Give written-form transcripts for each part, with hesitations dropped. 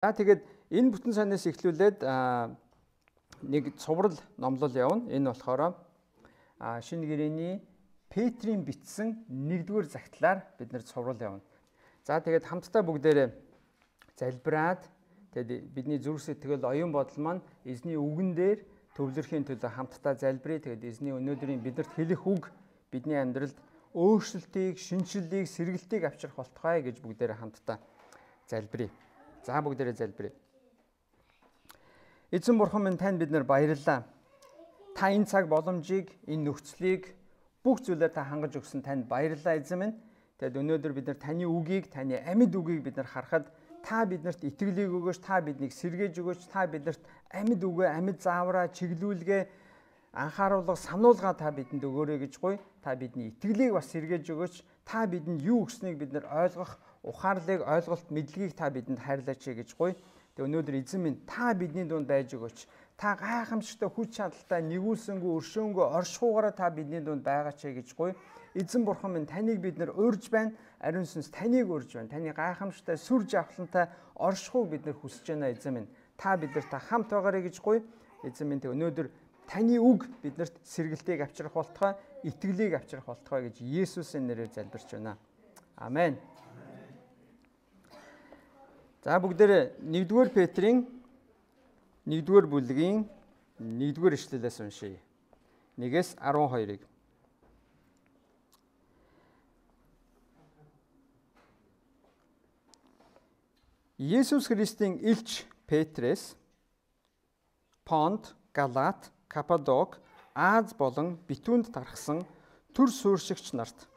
За тэгээд энэ бүтэн санаас эхлүүлээд нэг цуврал номлол явна. Энэ болохоор шинэ гэрээний Петрийн бичсэн 1-р загтлаар бид нэр цуврал явна. За тэгээд хамтдаа бүгдээрээ залбираад тэгээд бидний зүрх сэтгэл оюун бодол маань эзний үгэн дээр төвлөрхийн төлөө хамтдаа залбирая. Тэгээд эзний өнөөдрийн бидэрт хэлэх үг бидний амьдралд өөрчлөлтийг, шинжлэлийг, сэргэлтийг авчрах болтугай гэж бүгдээрээ хамтдаа залбирая. За бүгдээрээ залбирая. Эзэн бурхан минь, танд бид нар баярлалаа. Та энэ цаг боломжийг, энэ нөхцөлийг бүх зүйлээр та хангаж өгсөн танд баярлалаа эзэн минь. Тэгэд өнөөдөр бид нар таны үгийг, таны амьд үгийг бид нар харахад та биднэрт итгэлийг өгөөч, та биднийг сэргээж өгөөч, та биднэрт амьд үгээ, амьд заавраа, чиглүүлгээ, анхааруулга, сануулга та бидэнд өгөөрэй гэж гуй. Та бидний итгэлийг бас сэргээж өгөөч. Та бидэнд юу өгснийг бид нар ойлгох, ухаарлыг, ойлголт, мэдлэгийг та бидэнд хайрлаач гэж гуй. Тэгээ өнөөдөр эзэн минь, та бидний дунд байж өгөөч. Та гайхамшигтай хүч чадалтай, нэгүүлсэнгүй, өршөөнгөө, оршихуугаараа та бидний дунд байгаач гэж гуй. Эзэн бурхан минь, таныг бид нар урьж байна. Ариун сүнс таныг урьж байна. Таны гайхамшигтай, сүр жавхлантай оршихуйг бид нар хүсэж байна эзэн минь. Та бидэрт хамт байгаарай гэж гуй. Эзэн минь, өнөөдөр таны үг биднэрт сэргэлтийг авчрах болтугай, итгэлийг авчрах болтугай гэж Есүсийн нэрээр залбирч байна. Амен. За бүгдээрээ 1-р Петрийн 1-р бүлгийн 1-р ишлэлээс уншийе. 1-12-ыг. Есүс Христийн элч Петрээс Понт, Галат, Каппадок, Аз болон Битүнд тархсан төр суурьшигч нарт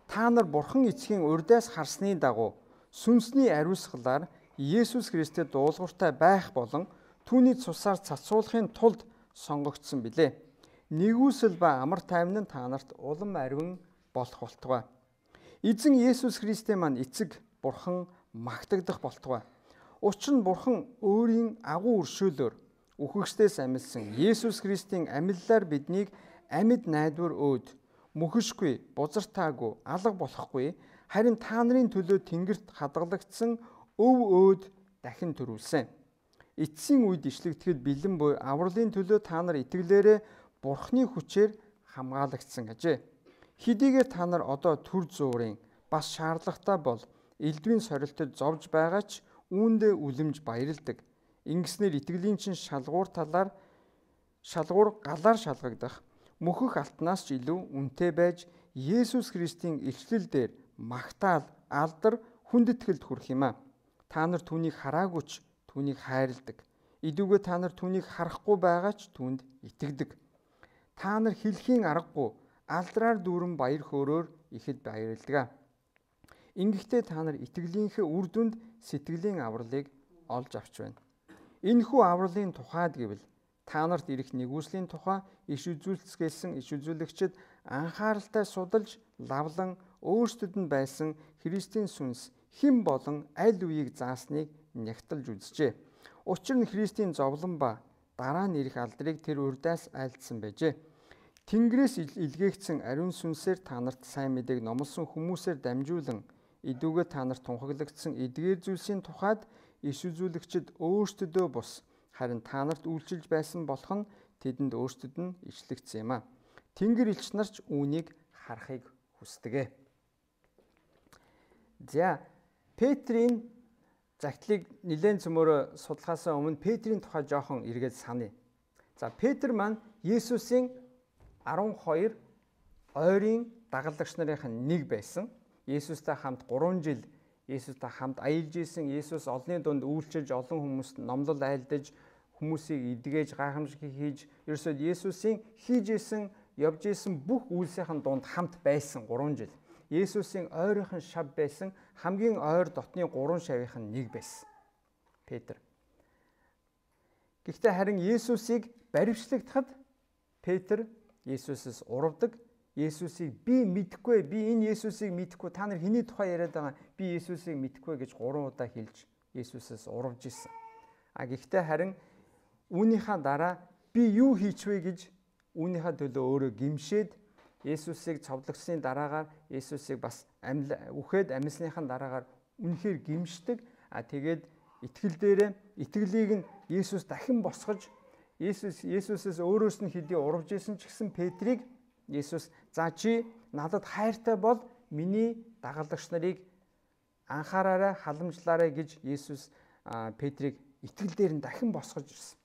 та нар Бурхан эцгийн урьдаас харсны дагуу сүнсний ариусгалаар Есүс Христэд дуулууртай байх болон түүний цусаар цацуулахын тулд сонгогдсон билээ. Нэгүсэл ба амар тайван нь та нарт улам ариун болох болтугай. Эзэн Есүс Христийн маань эцэг Бурхан магтагдах болтугай. Учир нь Бурхан өөрийн агуу өршөөлөөр үхэгчдээс амилсан Есүс Христийн амиллаар биднийг амьд найдвар өөд, мөхөшгүй, бузартаагүй, алга болохгүй, харин та нарын төлөө тэнгэрт хадгалагдсан өв өөд дахин төрүүлсэн. Эцсийн үед ишлэгдэхэд бэлэн буй авралын төлөө та нар итгэлээрээ Бурхны хүчээр хамгаалагдсан ажээ. Хэдийгээр та нар одоо төр зуурын бас шаардлагатай бол элдвийн сорилтод зовж байгаа ч үүндээ үлэмж баярладаг. Ингэснээр итгэлийн чин шалгуур галаар шалгагдах мөхөх алтнаас ч илүү үнэтэй байж Есүс Христийн илчлэл дээр магтаал, алдар, хүндэтгэлд хүрэх юм а. Та нар түүнийг хараагүй ч түүнийг хайрладаг. Идүүгээ та нар түүнийг харахгүй байгаа ч түүнд итгэдэг. Та нар хэлхийн аргагүй алдраар дүүрэн баяр хөөрөөр ихэд баярладаг. Ингэхдээ та нар итгэлийнхээ үр дүнд сэтгэлийн авралыг олж авч байна. Энэхүү авралын тухайд гэвэл та нарт ирэх нэгүслийн тухай иш үзүүлцгээсэн иш үзүүлэгчид анхааралтай судалж лавлан өөрсдөд нь байсан Христийн сүнс хэн болон аль үеийг заасныг нягтлж үзжээ. Учир нь Христийн зовлон ба дараа нь ирэх алдрыг тэр урьдаас айлдсан байжээ. Тэнгэрээс илгээгдсэн ариун сүнсээр та нарт сайн мэдээг номлосон хүмүүсээр дамжуулан идүүгээ та нарт тунхаглагдсан эдгээр зүйлсийн тухайд иш үзүүлэгчид өөрсдөдөө бус харин та нарт үйлчилж байсан болох нь тэдэнд өөрсдөд нь ичлэгдсэн юм а. Тэнгэр элч нар ч үүнийг харахыг хүсдэг. За Петрийн загтлыг нэлээд цөмөөрө судлахаас өмнө Петрийн тухай жоохон эргээд саная. За Петр маань Есүсийн 12 ойрын дагалдагч нарын нэг байсан. Есүстэй хамт 3 жил Есүстэй хамт аялж исэн. Есүс олонний дунд үйлчилж олон хүмүүст номлол айлдаж хүмүүсийг эдгэж гайхамшиг хийж ерөөсөө Есүсийн хийж исэн явж исэн бүх үйлсийн дунд хамт байсан 3 жил. Есүсийн ойрынхан шав байсан хамгийн ойр дотны 3 шавийнхан нэг байсан. Петр. Гэхдээ харин Есүсийг баривчлагдахад Петр Есүсээс урвдаг. Есүсийг би мэдэхгүй, би энэ Есүсийг мэдэхгүй, та нар хэний тухай яриад байгаа, би Есүсийг мэдэхгүй гэж 3 удаа хэлж Есүсээс урвж исэн. Гэхдээ харин үүнийхээ дараа би юу хийчвэ гэж үүнийхээ төлөө өөрөө гимшээд Есүсийг цовдлогсны дараагаар Есүсийг бас үхээд амьсныхаа дараагаар үнэхээр гимшдэг. Тэгээд итгэл дээрээ итгэлийг нь Есүс дахин босгож Есүсээс өөрөөс нь хэдий урвж исэн ч гэсэн Петрийг Есүс за чи надад хайртай бол миний дагалдагч нарыг анхаараарай, халамжлаарай гэж Есүс Петрийг итгэл дээр нь дахин босгож ирсэн.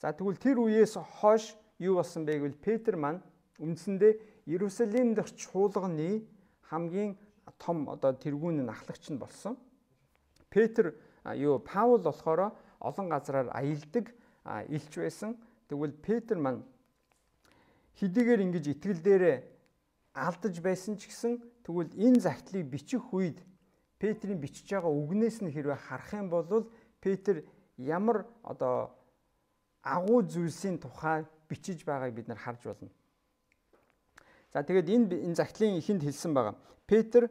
За тэгвэл тэр үеэс хойш юу болсон бэ гэвэл Петр маань үндсэндээ Иерусалим дахь чуулганы хамгийн том тэргүүн ахлагч нь болсон. Петр Паул болохоор олон газраар аялдаг илч байсан. Тэгвэл Петр маань хэдийгээр ингэж итгэл дээрээ алдаж байсан ч гэсэн тэгвэл энэ загтлыг бичих үед Петрийн бичиж байгаа үгнээс нь хэрвээ харах юм бол Петр ямар агуу зүйлсийн тухай бичиж байгааг бид нар харж болно. За тэгээд энэ загтлын эхэнд хэлсэн байгаа. Петр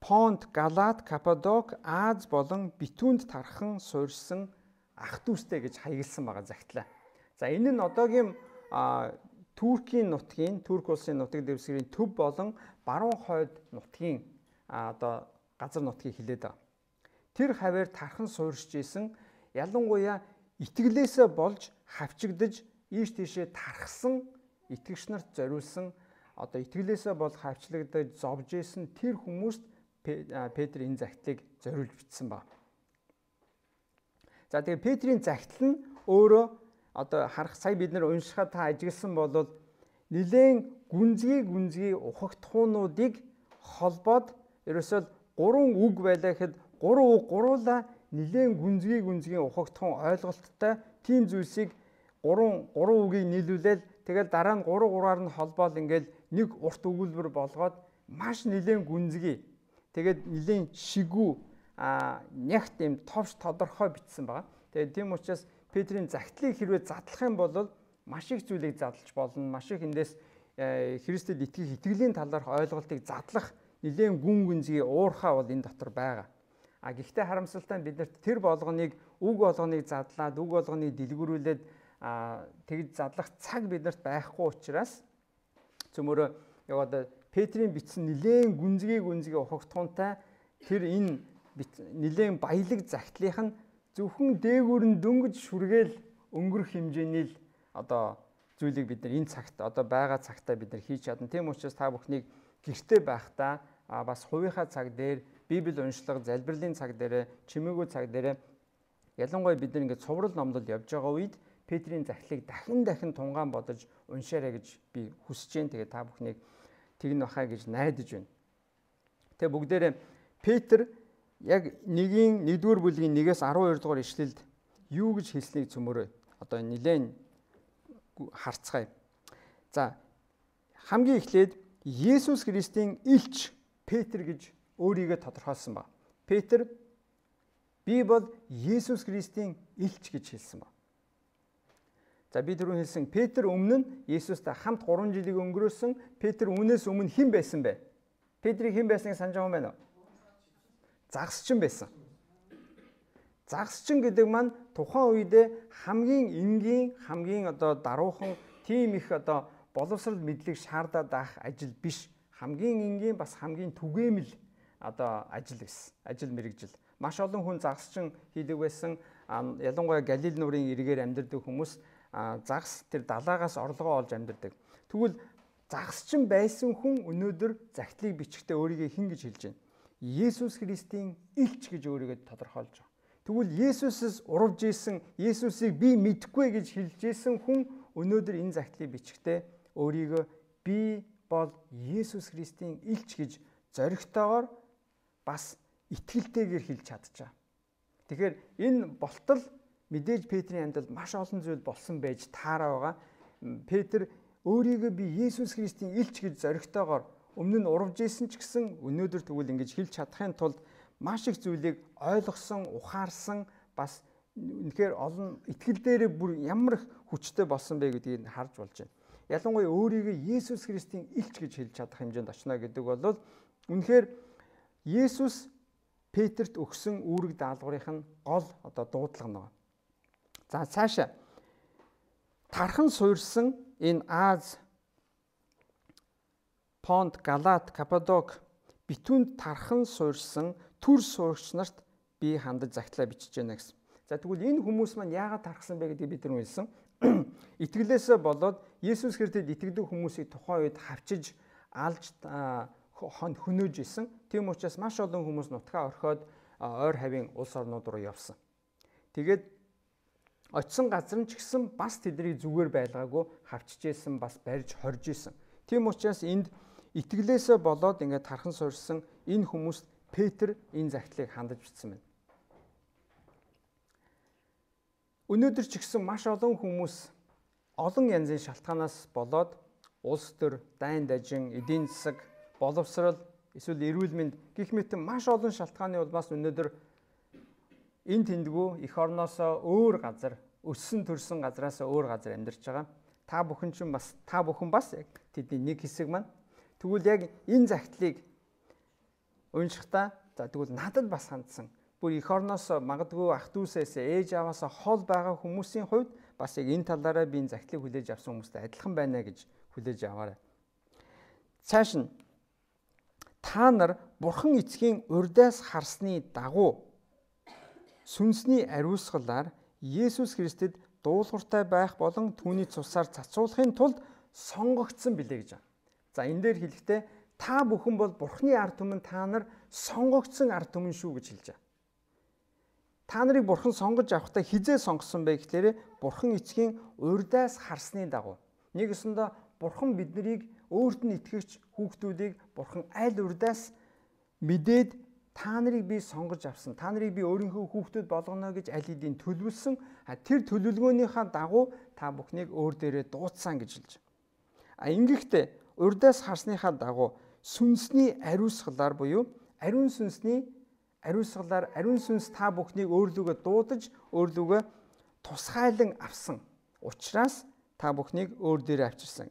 Понт, Галат, Каппадок, Аз болон Битүнд тархан суурьсан ах дүүстэй гэж хаягдсан байгаа загтлаа. За энэ нь одоогийн Туркийн нутгийн, Турк улсын нутаг дэвсгэрийн төв болон баруун хойд нутгийн газар нутгийг хэлээд байгаа. Тэр хаваар тархан суурьж исэн ялангуяа итгэлээсээ болж хавчигдж ийш тийшээ тархсан итгэгч нарт зориулсан итгэлээсээ бол хавчлагдаж зовж исэн тэр хүмүүст Петр энэ загтлыг зориулж бичсэн байна. За тэгээ Петрийн загтал нь өөрөө харах сая бид нар уншихад та ажигласан бол нилээн гүнзгий ухагтхуунуудыг холбоод ерөөсөө 3 үг байлаа гэхэд 3 үг гуруула нилээн гүнзгий ухагтхуун ойлголттой тийм зүйлсийг 3 үгийг нийлүүлээл тэгэл дараа нь 3-3-аар нь холбоол ингээл нэг урт өгүүлбэр болгоод маш нилээн гүнзгий тэгээд нилээн шигүү нягт юм товч тодорхой бичсэн байгаа. Тэгээд тийм учраас Петрийн загтлыг хэрвээ задлах юм бол маш их зүйлийг задлж болно. Маш их эндээс Христэд итгэх итгэлийн талаарх ойлголтыг задлах нилээн гүнзгий уурхаа бол энэ дотор байгаа. Гэхдээ харамсалтай нь биднэрт тэр болгоныг үг болгоныг задлаад үг болгоныг дэлгэрүүлээд тэгж задлах цаг биднэрт байхгүй учраас цөмөрөө Петрийн бичсэн нилээн гүнзгий ухагтхуунтай тэр энэ нилээн баялаг загтлынх нь зөвхөн дээгүүр нь дөнгөж шүргээл өнгөрөх хэмжээний л зүйлийг бид нар энэ цагт байгаа цагтаа бид нар хийж чадна. Тийм учраас та бүхнийг гэртээ байхдаа бас хувийнхаа цаг дээр Библи уншлага, залбирлын цаг дээрээ, чимээгүй цаг дээрээ ялангуяа бид нар ингээд цуврал номлол явж байгаа үед Петрийн загтлыг дахин тунгаан бодож уншаарай гэж би хүсэж байна. Тэгээ та бүхнийг тэгнэ бахаа гэж найдаж байна. Тэгээ бүгдээрээ Петр яг 1-р бүлгийн 1-ээс 12 дугаар ишлэлд юу гэж хэлснийг цөмөрөө нилээн харцгаая. За хамгийн эхлээд Есүс Христийн элч Петр гэж өөрийгөө тодорхойлсон ба. Петр би бол Есүс Христийн элч гэж хэлсэн ба. За би түрүүн хэлсэн Петр өмнө нь Есүстэй хамт 3 жилиг өнгөрөөсөн. Петр үүнээс өмнө хэн байсан бэ? Петрийг хэн байсныг санаж байгаа юм байна уу? Загасчин байсан. Загасчин гэдэг маань тухайн үедээ хамгийн энгийн, хамгийн даруухан тийм их боловсрал мэдлэг шаардаад байх ажил биш. Хамгийн энгийн бас хамгийн түгээмэл ажил байсан. Ажил мэргэжил. Маш олон хүн загасчин хийдэг байсан. Ялангуяа Галил нуурын эргээр амьдардаг хүмүүс загас тэр далаагаас орлогоо олж амьдардаг. Тэгвэл загасчин байсан хүн өнөөдөр загтлыг бичихдээ өөрийгөө хэн гэж хэлж байна? Есүс Христийн элч гэж өөрийгөө тодорхойлж байгаа. Тэгвэл Есүсээс урвж исэн, Есүсийг би мэдэхгүй гэж хэлж исэн хүн өнөөдөр энэ загтлыг бичихдээ өөрийгөө би бол Есүс Христийн элч гэж зоригтойгоор бас итгэлтэйгээр хэлж чадчихаа. Тэгэхээр энэ болтол мэдээж Петрийн амьдралд маш олон зүйл болсон байж таараа байгаа. Петр өөрийгөө би Есүс Христийн элч гэж зоригтойгоор өмнө нь урвж исэн ч гэсэн өнөөдөр тэгвэл ингэж хэлж чадахын тулд маш их зүйлийг ойлгосон, ухаарсан бас үнэхээр олон итгэл дээрээ бүр ямар их хүчтэй болсон бэ гэдгийг харж болж байна. Ялангуяа өөрийгөө Есүс Христийн элч гэж хэлж чадах хэмжээнд очно гэдэг бол үнэхээр Есүс Петрт өгсөн үүрэг даалгаврын гол дуудлага нэг. За цаашаа тархан суурьсан энэ Аз, Понт, Галат, Каппадок битүүнд тархан суурьсан төр суурьч нарт би хандаж загтлаа бичиж байна гэсэн. За тэгвэл энэ хүмүүс маань яагаад тархсан бэ гэдгийг бид нар хэлсэн. Итгэлээсээ болоод Есүс Христэд итгэдэг хүмүүсийг тухайн үед хавчиж, алж, хөнөөж исэн. Тийм учраас маш олон хүмүүс нутгаа орхиод ойр хавийн улс орнууд руу явсан. Тэгээд очисон газар нь ч гэсэн бас тэднийг зүгээр байлгаагүй хавчиж исэн, бас барьж хорж исэн. Тийм учраас энд итгэлээсээ болоод ингээд тархан суурьсан энэ хүмүүст Петр энэ загтлыг хандаж бичсэн байна. Өнөөдөр ч гэсэн маш олон хүмүүс олон янзын шалтгаанаас болоод улс төр, дайн дажин, эдийн засаг, боловсрол, эсвэл эрүүл мэнд гэх мэт маш олон шалтгааны улмаас өнөөдөр энэ тэндгүү эх орноосоо өөр газар, өссөн төрсөн газараасаа өөр газар амьдарч байгаа. Та бүхэн бас яг тэдний нэг хэсэг маань. Тэгвэл яг энэ загтлыг уншихдаа за тэгвэл надад бас хандсан. Бүр эх орноос магадгүй ах дүүсээс ээж аваасаа хол байгаа хүмүүсийн хувьд бас яг энэ талаараа би энэ загтлыг хүлээж авсан хүмүүстэй адилхан байна гэж хүлээж аваарай. Цааш нь та нар Бурхан эцгийн урьдаас харсны дагуу сүнсний ариусгалаар Есүс Христэд дуулууртай байх болон түүний цусаар цацуулахын тулд сонгогдсон билээ гэж байна. За энэ дээр хэлэхдээ та бүхэн бол Бурханы ард түмэн, та нар сонгогдсон ард түмэн шүү гэж хэлж байгаа. Та нарыг Бурхан сонгож авахдаа хизээ сонгосон бэ гэхээр Бурхан эцгийн урьдаас харсны дагуу. Нэгэсэндээ Бурхан биднийг өөрт нь итгэгч хүүхдүүдийг Бурхан аль урьдаас мэдээд та нарыг би сонгож авсан. Та нарыг би өөрийнхөө хүүхдүүд болгоно гэж аль хэдийн төлөвлөсөн. Тэр төлөвлөгөөнийхөө дагуу та бүхнийг өөр дээрээ дуудсан гэж хэлж байгаа. Ингэхдээ урьдаас харсныхаа дагуу сүнсний ариусгалаар буюу ариун сүнсний ариусгалаар ариун сүнс та бүхнийг өөрлөгөө дуудаж, өөрлөгөө тусгайлан авсан учраас та бүхнийг өөр дээрээ авчирсан.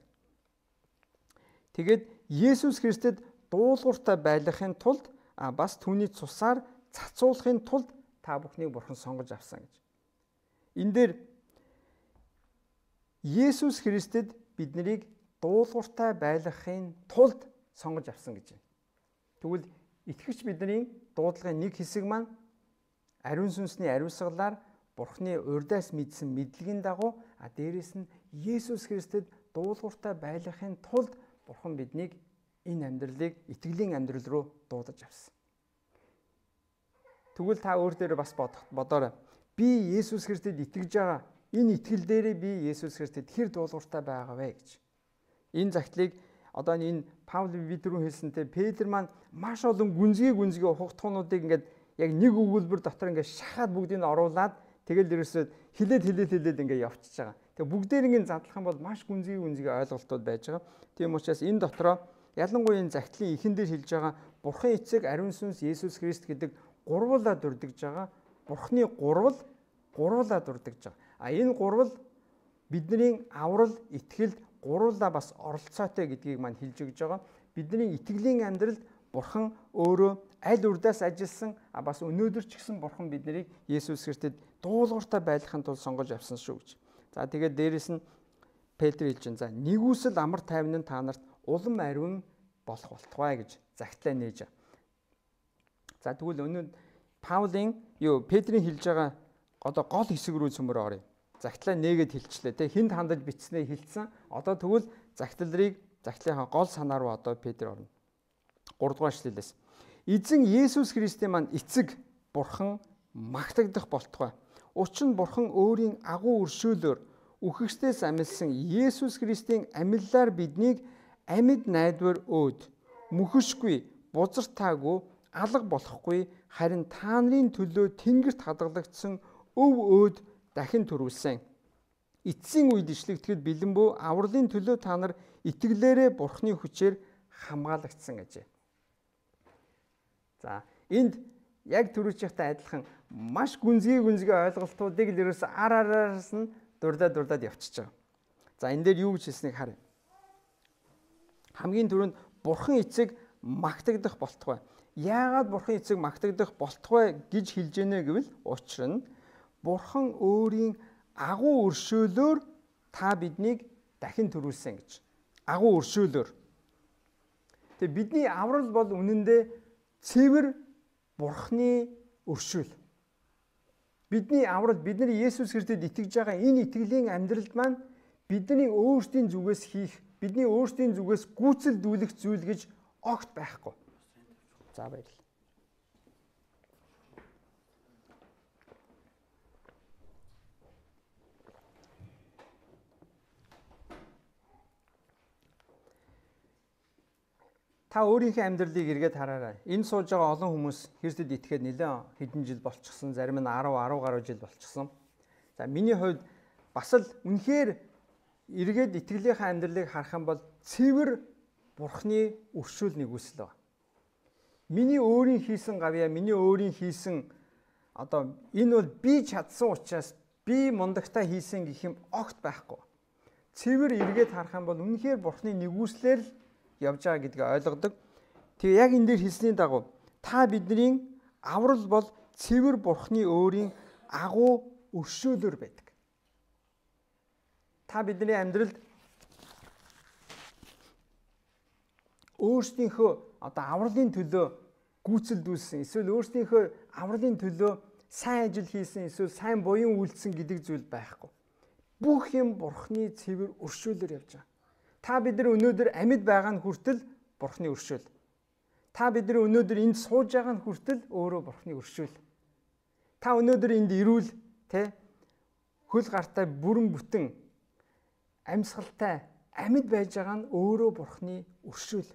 Тэгээд Есүс Христэд дуулууртай байлгахын тулд бас түүний цусаар цацуулахын тулд та бүхнийг Бурхан сонгож авсан гэж. Энэ дээр Есүс Христэд биднийг дуулууртай байлгахын тулд сонгож авсан гэж байна. Тэгвэл итгэгч бидний дуудлагын нэг хэсэг маань ариун сүнсний ариусгалаар Бурханы урьдаас мэдсэн мэдлэгийн дагуу дээрэс нь Есүс Христэд дуулууртай байлгахын тулд Бурхан биднийг энэ амьдралыг итгэлийн амьдрал руу дуудаж авсан. Тэгвэл та өөр дээрээ бас бодоорой. Би Есүс Христэд итгэж байгаа. Энэ итгэл дээрээ би Есүс Христэд хэр дуулууртай байгаа вэ гэж. Энэ загтлыг одоо энэ Паул бид рүү хэлсэнтэй Петр маань маш олон гүнзгий ухагтхуунуудыг ингээд яг нэг өгүүлбэр дотор ингээд шахаад бүгдийг нь оруулаад тэгэл ерөөсөө хилээд ингээд явчихж байгаа. Тэгээ бүгдээр ингээд задлах юм бол маш гүнзгий ойлголтууд байж байгаа. Тийм учраас энэ дотроо ялангуяа энэ загтлын эхэн дээр хэлж байгаа Бурхан эцэг ариун сүнс Есүс Христ гэдэг гурвуулаа дурдж байгаа. Бурханы гурвуулаа дурдж байгаа. Энэ гурвал бидний аврал, итгэл гурвуулаа бас оролцоотой гэдгийг маань хэлж өгж байгаа. Бидний итгэлийн амьдралд Бурхан өөрөө аль урьдаас ажилласан бас өнөөдөр ч гэсэн Бурхан биднийг Есүс Христэд дуулууртай байлгахын тулд сонгож авсан шүү гэж. За тэгээд дээрэс нь Петр хэлж байна. За нэгүсэл амар тайван нь та нарт улам ариун болох болтугай гэж загтлаа нээж байгаа. За тэгвэл өнөө Паулийн Петрийн хэлж байгаа одоо гол хэсэг рүү цөмөр оръё. Загтлаа нээгээд хэлчлээ. Тэ хинд хандаж бичснээ хэлсэн. Одоо тэгвэл загтлынхаа гол санаа руу одоо Петр орно. 3 дугаар эшлэлээс. Эзэн Есүс Христийн маань эцэг Бурхан магтагдах болтугай. Учир нь Бурхан өөрийн агуу өршөөлөөр үхэгчдээс амилсан Есүс Христийн амиллаар биднийг амьд найдвар өөд мөхөшгүй, бузартаагүй, алга болохгүй харин та нарын төлөө тэнгэрт хадгалагдсан өв өөд дахин төрүүлсэн. Эцсийн үед ишлэгдэхэд бэлэн бөө авралын төлөө та нар итгэлээрээ Бурханы хүчээр хамгаалагдсан гэжээ. За энд яг түрүүчийнхтэй адилхан маш гүнзгий ойлголтуудыг л ерөөс араас нь дурдаад явчихж байгаа. За энэ дээр юу гэж хэлснийг харъя. Хамгийн түрүүнд Бурхан эцэг магтагдах болтугай. Яагаад Бурхан эцэг магтагдах болтугай гэж хэлж ийнэ гэвэл учир нь Бурхан өөрийн агуу өршөөлөөр та биднийг дахин төрүүлсэн гэж. Агуу өршөөлөөр. Тэгээ бидний аврал бол үнэндээ цэвэр Бурханы өршөөл. Бидний аврал, бидний Есүс Христэд итгэж байгаа энэ итгэлийн амьдралд маань бидний өөрсдийн зүгээс хийх, бидний өөрсдийн зүгээс гүйцэлдүүлэх зүйл гэж огт байхгүй. За баярлалаа. Та өөрийнхөө амьдралыг эргээд хараарай. Энэ сууж байгаа олон хүмүүс Христэд итгэхэд нэлээд хэдэн жил болчихсон, зарим нь 10 гаруй жил болчихсон. За миний хувьд бас л үнэхээр эргээд итгэлийнхаа амьдралыг харах юм бол цэвэр Бурхны өршөөл нэгүсэл байна. Миний өөрийн хийсэн гавьяа, миний өөрийн хийсэн одоо энэ бол би чадсан учраас би мундагтаа хийсэн гэх юм огт байхгүй. Цэвэр эргээд харах юм бол үнэхээр Бурхны нэгүслээр л явж байгаа гэдгийг ойлгодог. Тэгээ яг энэ дээр хэлсний дагуу та бидний аврал бол цэвэр Бурхны өөрийн агуу өршөөлөөр байдаг. Та бидний амьдралд өөрсдийнхөө одоо авралын төлөө гүйцэлдүүлсэн, эсвэл өөрсдийнхөө авралын төлөө сайн ажил хийсэн, эсвэл сайн буян үйлдсэн гэдэг зүйл байхгүй. Бүх юм Бурхны цэвэр өршөөлөөр явж байгаа. Та бид нар өнөөдөр амьд байгаа нь хүртэл Бурхны өршөөл. Та бид нар өнөөдөр энд сууж байгаа нь хүртэл өөрөө Бурхны өршөөл. Та өнөөдөр энд ирүүл хөл гартай бүрэн бүтэн амьсгалтай амьд байж байгаа нь өөрөө Бурхны өршөөл.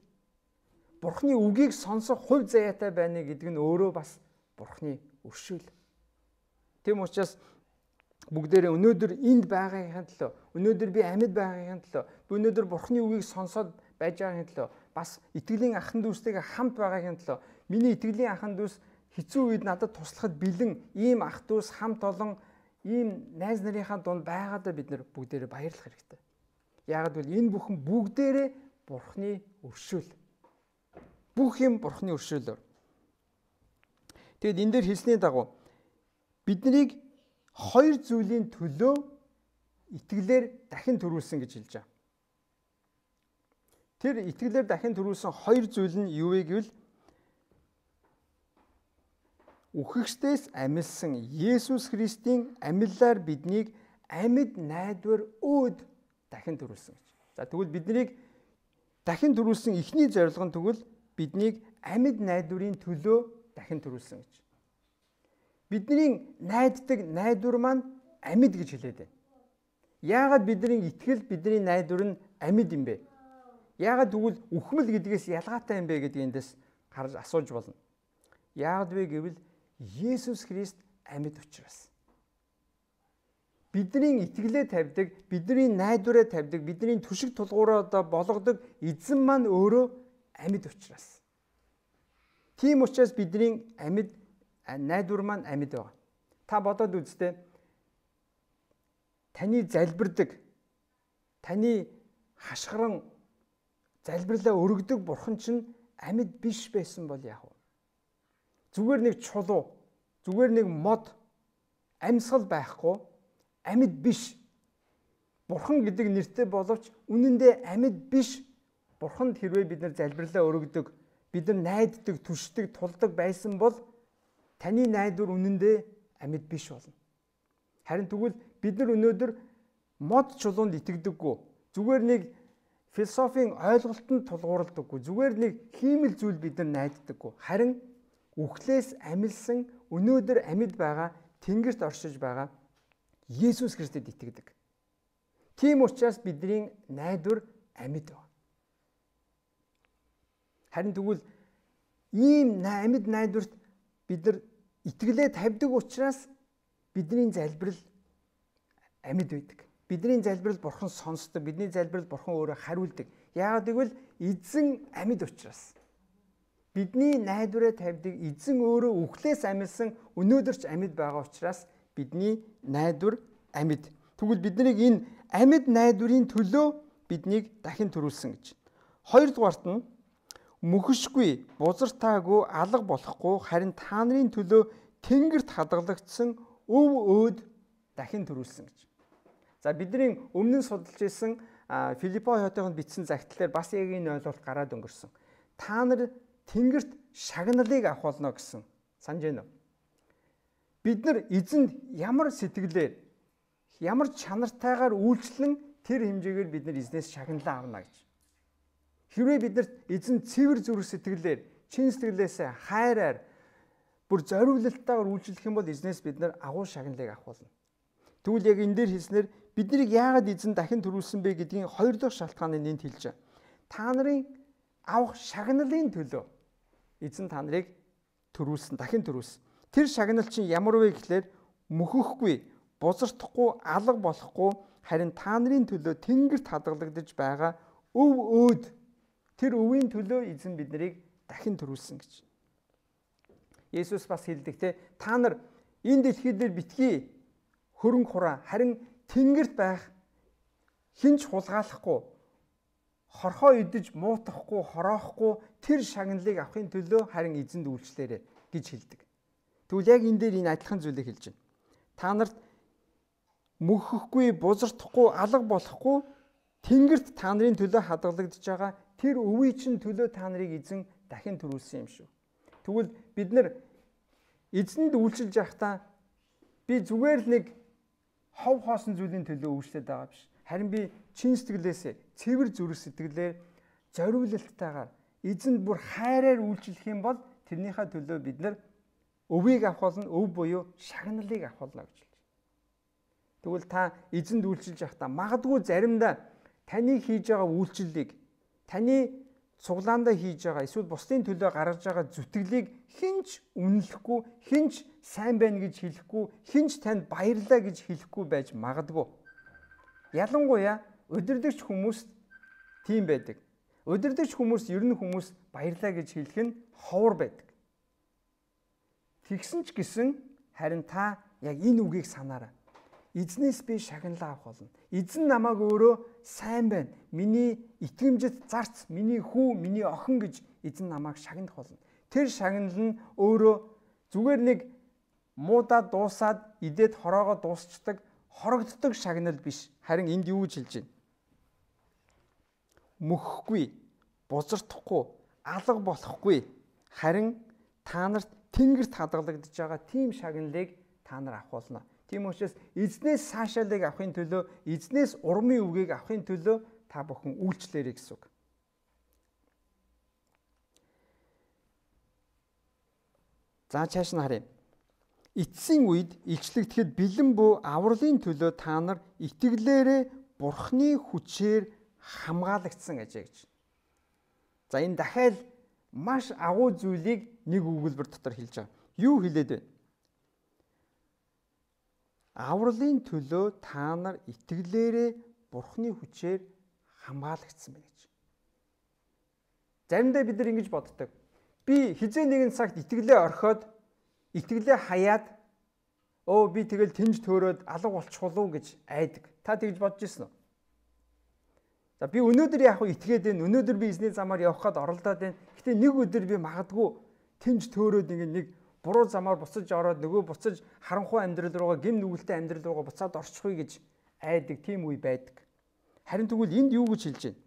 Бурхны үгийг сонсох хувь заяатай байна гэдэг нь өөрөө бас Бурхны өршөөл. Тэм учраас бүгдээрээ өнөөдөр энд байгаагийн төлөө, өнөөдөр би амьд байгаагийн төлөө, би өнөөдөр Бурхны үгийг сонсоод байж байгаагийн төлөө, бас итгэлийн ахын дүүстэйгээ хамт байгаагийн төлөө, миний итгэлийн ахын дүүс хэцүү үед надад туслахад бэлэн ийм ах дүүс хамт олон ийм найз нарынхаа дунд байгаадаа бид нар бүгдээрээ баярлах хэрэгтэй. Яагад бол энэ бүхэн бүгдээрээ Бурхны өршөөл. Бүх юм Бурхны өршөөлөөр. Тэгэд энэ дээр хэлсний дагуу биднийг хоёр зүйлийн төлөө итгэлээр дахин төрүүлсэн гэж хэлж байгаа. Тэр итгэлээр дахин төрүүлсэн хоёр зүйл нь юу вэ гэвэл үхэгчдээс амилсан Есүс Христийн амиллаар биднийг амьд найдвар өөд дахин төрүүлсэн гэж. За тэгвэл биднийг дахин төрүүлсэн эхний зорилго нь тэгвэл биднийг амьд найдварын төлөө дахин төрүүлсэн гэж. Бидний найддаг найдвар маань амьд гэж хэлээд байна. Яагаад бидний итгэл, бидний найдвар нь амьд юм бэ? Яагаад тэгвэл үхмэл гэдгээс ялгаатай юм бэ гэдгийг эндээс харж асууж болно. Яагаад вэ гэвэл Есүс Христ амьд учраас. Бидний итгэлээ тавьдаг, бидний найдвараа тавьдаг, бидний түшиг тулгуураа болгодог эзэн маань өөрөө амьд учраас. Тийм учраас бидний амьд найдвар маань амьд байгаа. Та бодоод үзтээ. Таны залбирдаг, таны хашгиран залбирлаа өргөдөг бурхан чинь амьд биш байсан бол яах вэ? Зүгээр нэг чулуу, зүгээр нэг мод, амьсгал байхгүй, амьд биш. Бурхан гэдэг нэртэй боловч үнэндээ амьд биш. Бурханд хэрвээ бид нар залбирлаа өргөдөг, бид нар найддаг, түшдэг, тулдаг байсан бол таны найдвар үнэндээ амьд биш болно. Харин тэгвэл бид нар өнөөдөр мод чулуунд итгэдэггүй. Зүгээр нэг философийн ойлголтод тулгуурладаггүй. Зүгээр нэг хиймэл зүйл бид нар найддаггүй. Харин үхлээс амилсан өнөөдөр амьд байгаа, тэнгэрт оршиж байгаа Есүс Христэд итгэдэг. Тийм учраас бидний найдвар амьд байна. Харин тэгвэл ийм амьд найдварт бид нар итгэлээ тавьдаг учраас бидний залбирал амьд байдаг. Бидний залбирал Бурхан сонсдог, бидний залбирал Бурхан өөрөө хариулдаг. Яагаад гэвэл эзэн амьд учраас. Бидний найдвараа тавьдаг эзэн өөрөө үхлээс амилсан өнөөдөр ч амьд байгаа учраас бидний найдвар амьд. Тэгвэл биднийг энэ амьд найдварын төлөө биднийг дахин төрүүлсэн гэж. Хоёрдугаарт нь мөхөшгүй, бузартаагүй, алга болохгүй харин та нарын төлөө тэнгэрт хадгалагдсан өв өөд дахин төрүүлсэн гэж. За бидний өмнө нь судалж ирсэн Филиппо хотынд бичсэн загтлаар бас яг энэ ойлголт гараад өнгөрсөн. Та нар тэнгэрт шагналыг авах болно гэсэн. Санаж байна уу? бид нар эзэнд ямар сэтгэлээр, ямар чанартайгаар үйлчлэн тэр хэмжээгээр бид нар эзнээс шагналаа авна гэж. Хэрвээ биднэрт эзэн цэвэр зүрх сэтгэлээр, чин сэтгэлээсээ хайраар бүр зориулалтайгаар үйлчлэх юм бол эзнээс бид нар агуу шагналыг авах болно. Тэгвэл яг энэ дээр хэлснээр биднийг яагаад эзэн дахин төрүүлсэн бэ гэдгийн хоёр дахь шалтгааныг энд хэлж байна. Та нарын авах шагналын төлөө эзэн та нарыг төрүүлсэн, дахин төрүүлсэн. Тэр шагнал чинь ямар вэ гэхлээр мөхөхгүй, бузардахгүй, алга болохгүй, харин та нарын төлөө тэнгэрт хадгалагдаж байгаа өв өөд. Тэр өвийн төлөө эзэн биднийг дахин төрүүлсэн гэж. Есүс бас хэлдэг те, та нар энэ дэлхий дээр битгий хөрөнгө хураа, харин тэнгэрт байх хинч хулгайлахгүй, хорхоо идэж муутахгүй, хороохгүй тэр шагналыг авахын төлөө харин эзэнд үйлчлээрэй гэж хэлдэг. Тэгвэл яг энэ дээр энэ адилхан зүйлийг хэлж байна. Та нарт мөхөхгүй, бузардахгүй, алга болохгүй тэнгэрт та нарын төлөө хадгалагдж байгаа тэр өвийн чинь төлөө та нарыг эзэн дахин төрүүлсэн юм шүү. Тэгвэл бид нар эзэнд үйлчилж байхдаа би зүгээр л нэг хов хоосон зүйлийн төлөө үйлчлээд байгаа биш. Харин би чин сэтгэлээсээ, цэвэр зүрх сэтгэлээр зориулалттайгаар эзэнд бүр хайраар үйлчлэх юм бол тэрнийхээ төлөө бид нар өвийг авах болно, өв буюу шагналыг авах болно гэж хэлж байна. Тэгвэл та эзэнд үйлчилж байхдаа магадгүй заримдаа таны хийж байгаа үйлчлэлийг, таны цуглаандаа хийж байгаа эсвэл бусдын төлөө гаргаж байгаа зүтгэлийг хинч үнэлэхгүй, хинч сайн байна гэж хэлэхгүй, хинч танд баярлалаа гэж хэлэхгүй байж магадгүй. Ялангуяа удирдагч хүмүүст тийм байдаг. Удирдагч хүмүүс ер нь хүмүүс баярлалаа гэж хэлэх нь ховор байдаг. Тэгсэн ч гэсэн харин та яг энэ үгийг санаарай. Эзнээс би шагналаа авах болно. Эзэн намайг өөрөө сайн байна. Миний итгэмжит зарц, миний хүү, миний охин гэж эзэн намайг шагнах болно. Тэр шагнал нь өөрөө зүгээр нэг муудаад дуусаад идээд хороогоо дуусчдаг, хорогддог шагнал биш. Харин энд юу гэж хэлж байна? Мөхөхгүй, бузардахгүй, алга болохгүй. Харин та нарт тэнгэрт хадгалагдж байгаа тийм шагналыг та нар авах болно. Тийм учраас эзнээс цаашаалыг авахын төлөө, эзнээс урмын үгийг авахын төлөө та бүхэн үйлчлээрэй гэсэн үг. За цааш нь харъя. Эцсийн үед илчлэгдэхэд бэлэн буй авралын төлөө та нар итгэлээрээ Бурхны хүчээр хамгаалагдсан ажээ гэж. За энэ дахиад маш агуу зүйлийг нэг өгүүлбэр дотор хэлж байгаа. Юу хэлээд вэ? Авралын төлөө та нар итгэлээрээ Бурхны хүчээр хамгаалагдсан байна гэж. Заримдаа бид нар ингэж боддог. Би хизээ нэгэн цагт итгэлээ орхиод, итгэлээ хаяад би тэгэл тэнж төөрөөд алга болчихвол уу гэж айдаг. Та тэгж бодож ирсэн үү? За би өнөөдөр яг итгээд байна. Өнөөдөр би эзний замаар явах гээд оролдоод байна. Гэтэ нэг өдөр би магадгүй тэнж төөрөөд нэг буруу замаар буцаж ороод нөгөө буцаж харанхуй амьдрал руугаа, гим нүгэлтэй амьдрал руугаа буцаад орчихъя гэж айдаг, тийм үе байдаг. Харин тэгвэл энд юу гэж хэлж байна?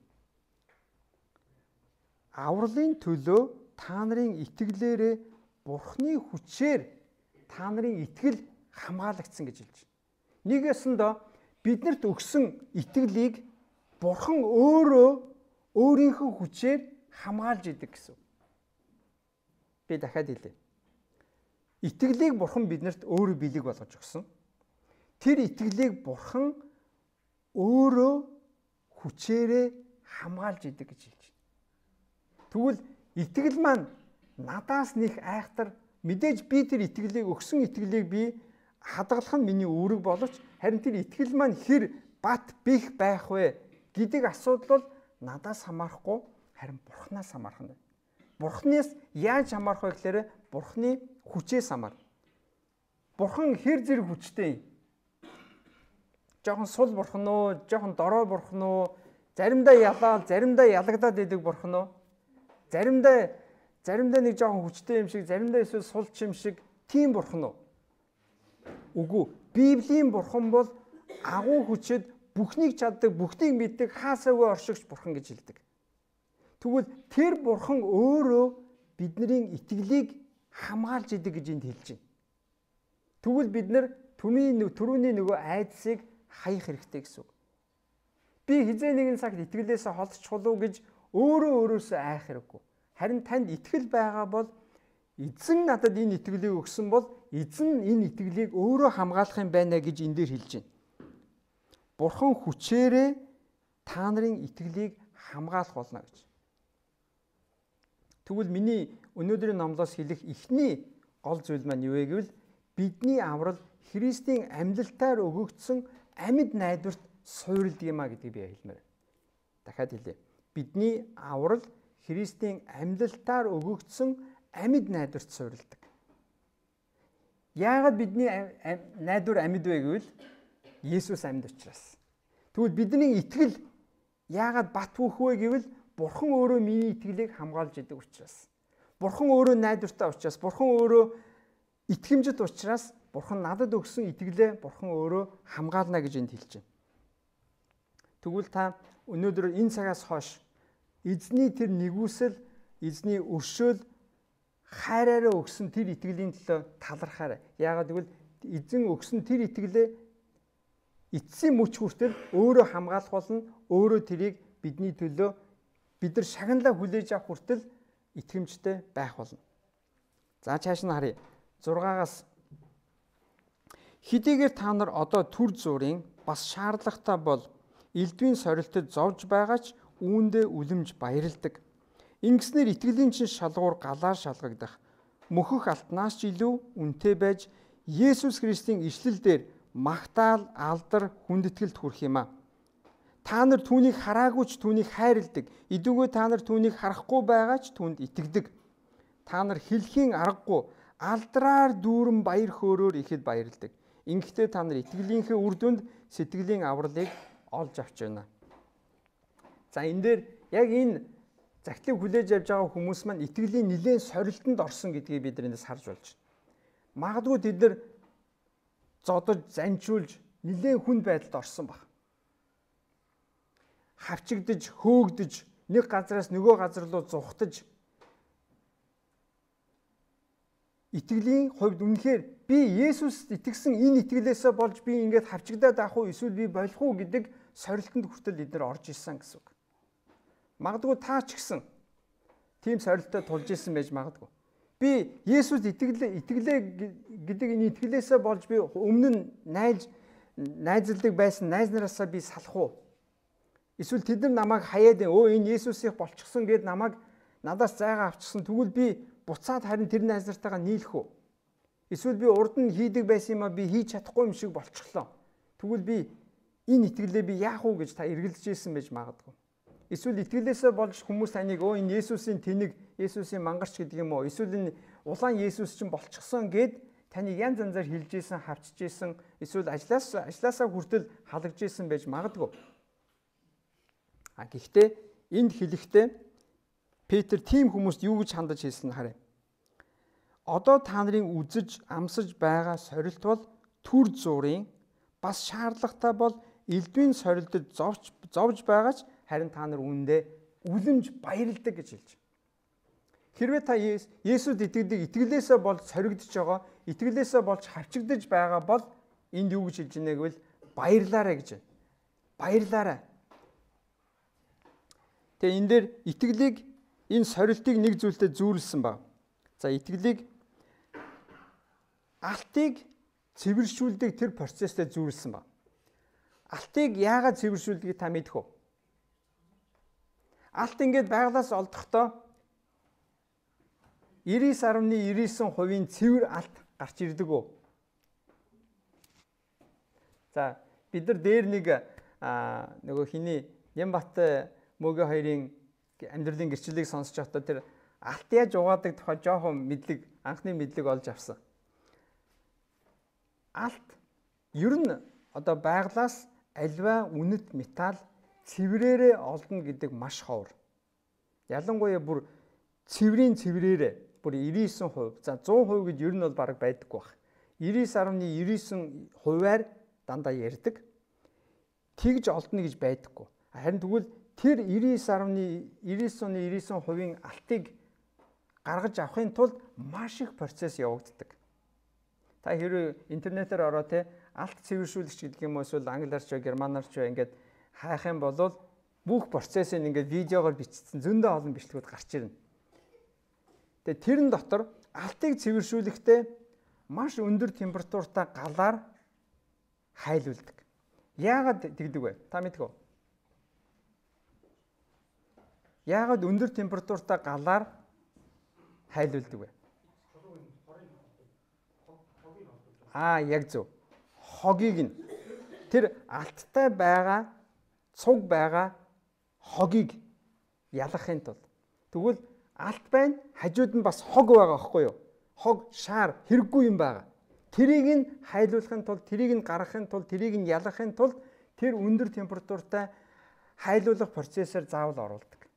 Авралын төлөө та нарын итгэлээрээ Бурхны хүчээр та нарын итгэл хамгаалагдсан гэж хэлж байна. Нэг ясандаа биднэрт өгсөн итгэлийг Бурхан өөрөө өөрийнхөө хүчээр хамгаалж идэг гэсэн. Би дахиад хэлье. Итгэлийг Бурхан биднэрт өөрөө бэлэг болгож өгсөн. Тэр итгэлийг Бурхан өөрөө хүчээрээ хамгаалж идэг гэж хэлж байна. Тэгвэл итгэл маань надаас нэг айхтар, мэдээж би тэр итгэлийг өгсөн итгэлийг би хадгалах нь миний үүрэг боловч харин тэр итгэл маань хэр бат бих байх вэ гэдэг асуудал бол надаас хамаарахгүй, харин Бурханаас хамаарх нь. Бурханаас яаж хамаарх вэ гэхээр Бурханы хүчээс хамаарна. Бурхан хэр зэрэг хүчтэй юм? Жохон сул бурхан уу, жохон дорой бурхан уу, заримдаа ялаад, заримдаа ялагдаад идэг бурхан уу? Заримдаа нэг жохон хүчтэй юм шиг, заримдаа эсвэл сулч юм шиг тийм бурхан уу? Үгүй. Библийн бурхан бол агуу хүчэд бүхнийг чаддаг, бүхнийг мэддэг, хаасаагүй оршигч бурхан гэж хэлдэг. Тэгвэл тэр бурхан өөрөө бидний итгэлийг хамгаалж идэг гэж энд хэлж байна. Тэгвэл бид нар түрүүний нөгөө айдсыг хаях хэрэгтэй гэсэн үг. Би хизээ нэгэн цагт итгэлээсээ холдчихвол уу гэж өөрөөсөө айх хэрэггүй. Харин танд итгэл байгаа бол эзэн надад энэ итгэлийг өгсөн бол эзэн энэ итгэлийг өөрөө хамгаалах юм байна гэж энэ дээр хэлж байна. Бурхан хүчээрээ та нарын итгэлийг хамгаалах болно гэж. Тэгвэл миний өнөөдрийн номлоос хэлэх эхний гол зүйл маань юу вэ гэвэл бидний аврал Христийн амьлалтаар өгөгдсөн амьд найдварт суурилдаг юм а гэдгийг би хэлмээр. Дахиад хэлье. Бидний аврал Христийн амьлалтаар өгөгдсөн амьд найдварт суурилдаг. Яагаад бидний найдвар амьд вэ гэвэл Есүс амьд учраас. Тэгвэл бидний итгэл яагаад бат бөх вэ гэвэл Бурхан өөрөө миний итгэлийг хамгаалж идэг учраас. Бурхан өөрөө найдвартай учраас, Бурхан өөрөө итгэмжит учраас Бурхан надад өгсөн итгэлээ Бурхан өөрөө хамгаална гэж энд хэлж байна. Тэгвэл та өнөөдөр энэ цагаас хойш эзний тэр нэгүсэл, эзний өршөөл хайраараа өгсөн тэр итгэлийн төлөө талархаарай. Яагаад гэвэл эзэн өгсөн тэр итгэлээ эцсийн мөч хүртэл өөрөө хамгаалах болно, өөрөө тэрийг бидний төлөө бид нар шагналаа хүлээж авах хүртэл итгэмжтэй байх болно. За цааш нь харъя. 6-аас хэдийгээр та нар одоо төр зүрийн бас шаардлагатай бол элдвийн сорилтод зовж байгаа ч үүндээ үлэмж баярладаг. Ингэснээр итгэлийн чин шалгуур галаар шалгагдах. Мөхөх алтнаас ч илүү үнэтэй байж Есүс Христийн ишлэл дээр магтаал, алдар, хүндэтгэлд хүрэх юм а. Та нар түүнийг хараагүй ч түүнийг хайрладаг. Идүүгээ та нар түүнийг харахгүй байгаа ч түүнд итгэдэг. Та нар хэлхийн аргагүй алдраар дүүрэн баяр хөөрөөр ихэд баярладаг. Ингэхдээ та нар итгэлийнхээ үр дүнд сэтгэлийн авралыг олж авч байна. За энэ дээр яг энэ загтлыг хүлээж авч байгаа хүмүүс маань итгэлийн нэлээд сорилтонд орсон гэдгийг бид эндээс харж болж байна. Магадгүй тэд нар зодож, занчуулж нэлээд хүнд байдалд орсон баг. Хавчигдж, хөөгдөж, нэг газараас нөгөө газар руу зугтаж итгэлийн хувьд үнэхээр би Есүст итгэсэн энэ итгэлээсээ болж би ингээд хавчигдаад авах уу эсвэл би болох уу гэдэг сорилтонд хүртэл эдгээр орж ирсэн гэсэн үг. Магадгүй та ч гэсэн тийм сорилтод тулж ирсэн байж магадгүй. Би Есүст итгэлээ гэдэг энэ итгэлээсээ болж би өмнө нь найзалдаг байсан найз нараасаа би салах уу? Эсвэл тэд нар намайг хаяад энэ Есүсийг болчихсон гэд намайг надаас зайгаа авчихсан. Тэгвэл би буцаад харин тэр найз нартайгаа нийлэх үү? Эсвэл би урд нь хийдэг байсан юм а би хийж чадахгүй юм шиг болчихлоо. Тэгвэл би энэ итгэлээ би яах уу гэж та эргэлдэж ирсэн байж магадгүй. Эсвэл итгэлээсээ болж хүмүүс таныг энэ Есүсийн тэнэг, Есүсийн мангарч гэдэг юм уу? Эсвэл энэ улаан Есүс чинь болчихсон гэд таныг янз янзаар хилж ийсэн, хавчж ийсэн, эсвэл ажлаасаа хүртэл халагдж ийсэн байж магадгүй. Гэхдээ энд хэлэхдээ Петр тийм хүмүүст юу гэж хандаж хэлсэн нь харъя. Одоо та нарын үзэж, амсаж байгаа сорилт бол төр зүрийн бас шаардлагатай бол элдвийн сорилтод зовж байгаа ч харин та нар үүндээ үлэмж баярладаг гэж хэлж. Хэрвээ та Есүст итгэдэг, итгэлээсээ болж соригдож байгаа, итгэлээсээ болж хавчигдж байгаа бол энд юу гэж хэлж байна гэвэл баярлаарай гэж байна. Баярлаарай. Тэгээ энэ дээр итгэлийг энэ сорилтыг нэг зүйлтэй зүйрлсэн баг. За итгэлийг алтыг цэвэршүүлдэг тэр процесстэй зүйрлсэн баг. Алтыг яагаад цэвэршүүлдгийг та мэдэх үү? Алт ингээд байглаас олдохдоо 99.99% цэвэр алт гарч ирдэг үү? За бид нар дээр нэг нөгөө хиний Нямбат Мөгийн хоёрын амьдралын гэрчлэлийг сонсож байхдаа тэр алт яаж угаадаг тухай жоохон мэдлэг, анхны мэдлэг олж авсан. Алт ер нь одоо байглаас альва үнэт металл цэврээрээ олдно гэдэг маш ховор. Ялангуяа бүр цэврийн цэврээрээ бүр 99%, за 100% гэж ер нь бол бараг байдаггүй баг. 99.99%-аар дандаа ярьдаг. Тэгж олдно гэж байдаггүй. Харин тэгвэл тэр 99.99%-ийн алтыг гаргаж авахын тулд маш их процесс явагддаг. Та хэрвээ интернетээр ороо те алт цэвэршүүлэгч гэдэг юм уу эсвэл англиар ч германаар ч ингээд хайх юм бол бүх процессыг ингээд видеогоор бичсэн зөндөө олон бичлэгүүд гарч ирнэ. Тэгээ тэрэн дотор алтыг цэвэршүүлэхдээ маш өндөр температуртай галаар хайлуулдаг. Яагаад тэгдэг вэ? Та мэдэх үү? Яагаад өндөр температуртай галаар хайлуулдаг вэ? Яг зөв. Хогийг нь тэр алттай байгаа цуг байгаа хогийг ялгахын тулд тэгвэл алт байна, хажууд нь бас хог байгаа байхгүй юу? Хог шаар хэрэггүй юм байгаа. Тэрийг нь хайлуулахын тулд, тэрийг нь гаргахын тулд, тэрийг нь ялгахын тулд тэр өндөр температуртай хайлуулах процессор заавал оруулдаг.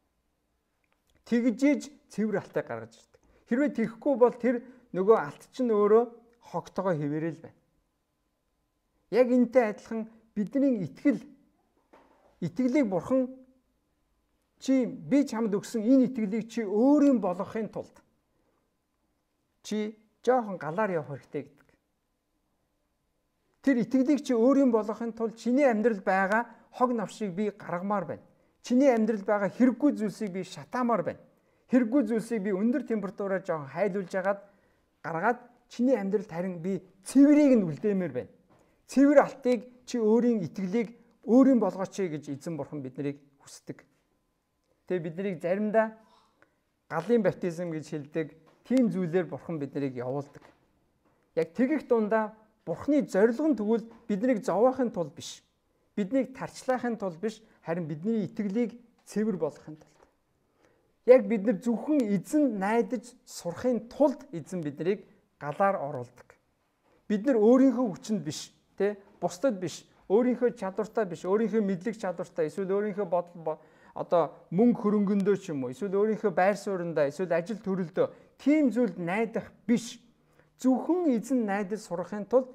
Тэгжиж цэвэр алтыг гаргаж ирдэг. Хэрвээ тийхгүй бол тэр нөгөө алт чинь өөрөө хогтойгоо хэвээрэл байна. Яг энтэй адилхан бидний итгэлийг бурхан би чамд өгсөн энэ итгэлийг чи өөрийн болгохын тулд чи жоохон галаар явах хэрэгтэй гэдэг. Тэр итгэлийг чи өөрийн болгохын тулд чиний амьдрал байгаа хог навшийг би гаргамаар байна. Чиний амьдрал байгаа хэрэггүй зүйлсийг би шатаамаар байна. Хэрэггүй зүйлсийг би өндөр температураар жоохон хайлуулж гаргаад чиний амьдралд харин би цэврийг нь үлдээмээр байна. Цэвэр алтыг чи өөрийн итгэлийг өөрийн болгооч гэж эзэн бурхан биднийг хүсдэг. Тэгээ биднийг заримдаа галын баптизм гэж хэлдэг тийм зүйлээр бурхан биднийг явуулдаг. Яг тэгэх дундаа бурханы зорилго нь тэгвэл биднийг зовоохын тулд биш. Биднийг тарчлахын тулд биш, харин бидний итгэлийг цэвэр болгохын тулд. Яг бид нар зөвхөн эзэн найдаж сурахын тулд эзэн биднийг галаар оруулдаг. Бид нар өөрийнхөө хүчинд биш, бусдад биш, өөрийнхөө чадвартай биш, өөрийнхөө мэдлэг чадвартай, эсвэл өөрийнхөө мөнгө хөрөнгөндөө ч юм уу, эсвэл өөрийнхөө байр сууриндаа, эсвэл ажил төрөлдөө тийм зүйлд найдах биш. Зөвхөн эзэн найдаж сурахын тулд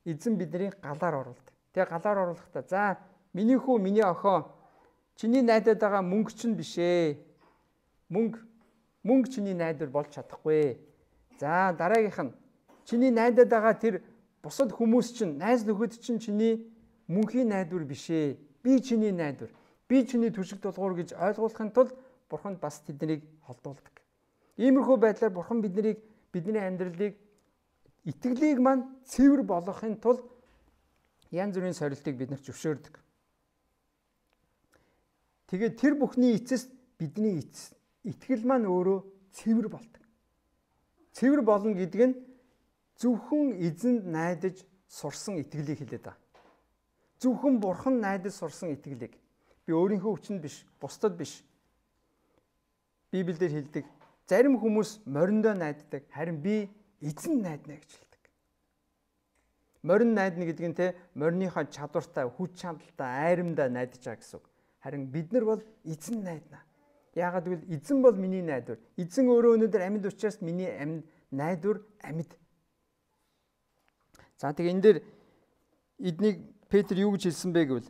эзэн бидний галаар оруулдаг. Тэгээ галаар оруулахдаа за миний хүү, миний охин чиний найдаад байгаа мөнгө чинь биш ээ. Мөнгө чиний найдвар болж чадахгүй. За дараагийнх нь чиний найдаад байгаа тэр бусад хүмүүс чинь найз нөхөд чинь чиний мөнхийн найдвар биш ээ. Би чиний найдвар. Би чиний түшиг тулгуур гэж ойлгуулахын тулд бурханд бас тэднийг холдуулдаг. Иймэрхүү байдлаар бурхан бидний амьдралыг итгэлийг маань цэвэр болгохын тулд янз бүрийн сорилтыг биднэрт зөвшөөрдөг. Тэгээд тэр бүхний эцэст бидний итгэл маань өөрөө цэвэр болдог. Цэвэр болно гэдэг нь зөвхөн эзэнд найдаж сурсан итгэлийг хэлээд байна. Зөвхөн бурхан найдаж сурсан итгэлийг. Би өөрийнхөө хүчинд биш, бусдад биш. Библиэлд хэлдэг. Зарим хүмүүс мориндоо найддаг, харин би эзэн найдна гэж хэлдэг. Морин найдна гэдэг нь мориныхоо чадвартай, хүч чадалтай, айрамдаа найдаж байгаа гэсэн үг. Харин бид нар бол эзэн найдна. Яагаад гэвэл эзэн бол миний найдвар. Эзэн өөрөө өнөөдөр амьд учраас миний найдвар амьд. За тэгээ энэ дээр эднийг Петр юу гэж хэлсэн бэ гэвэл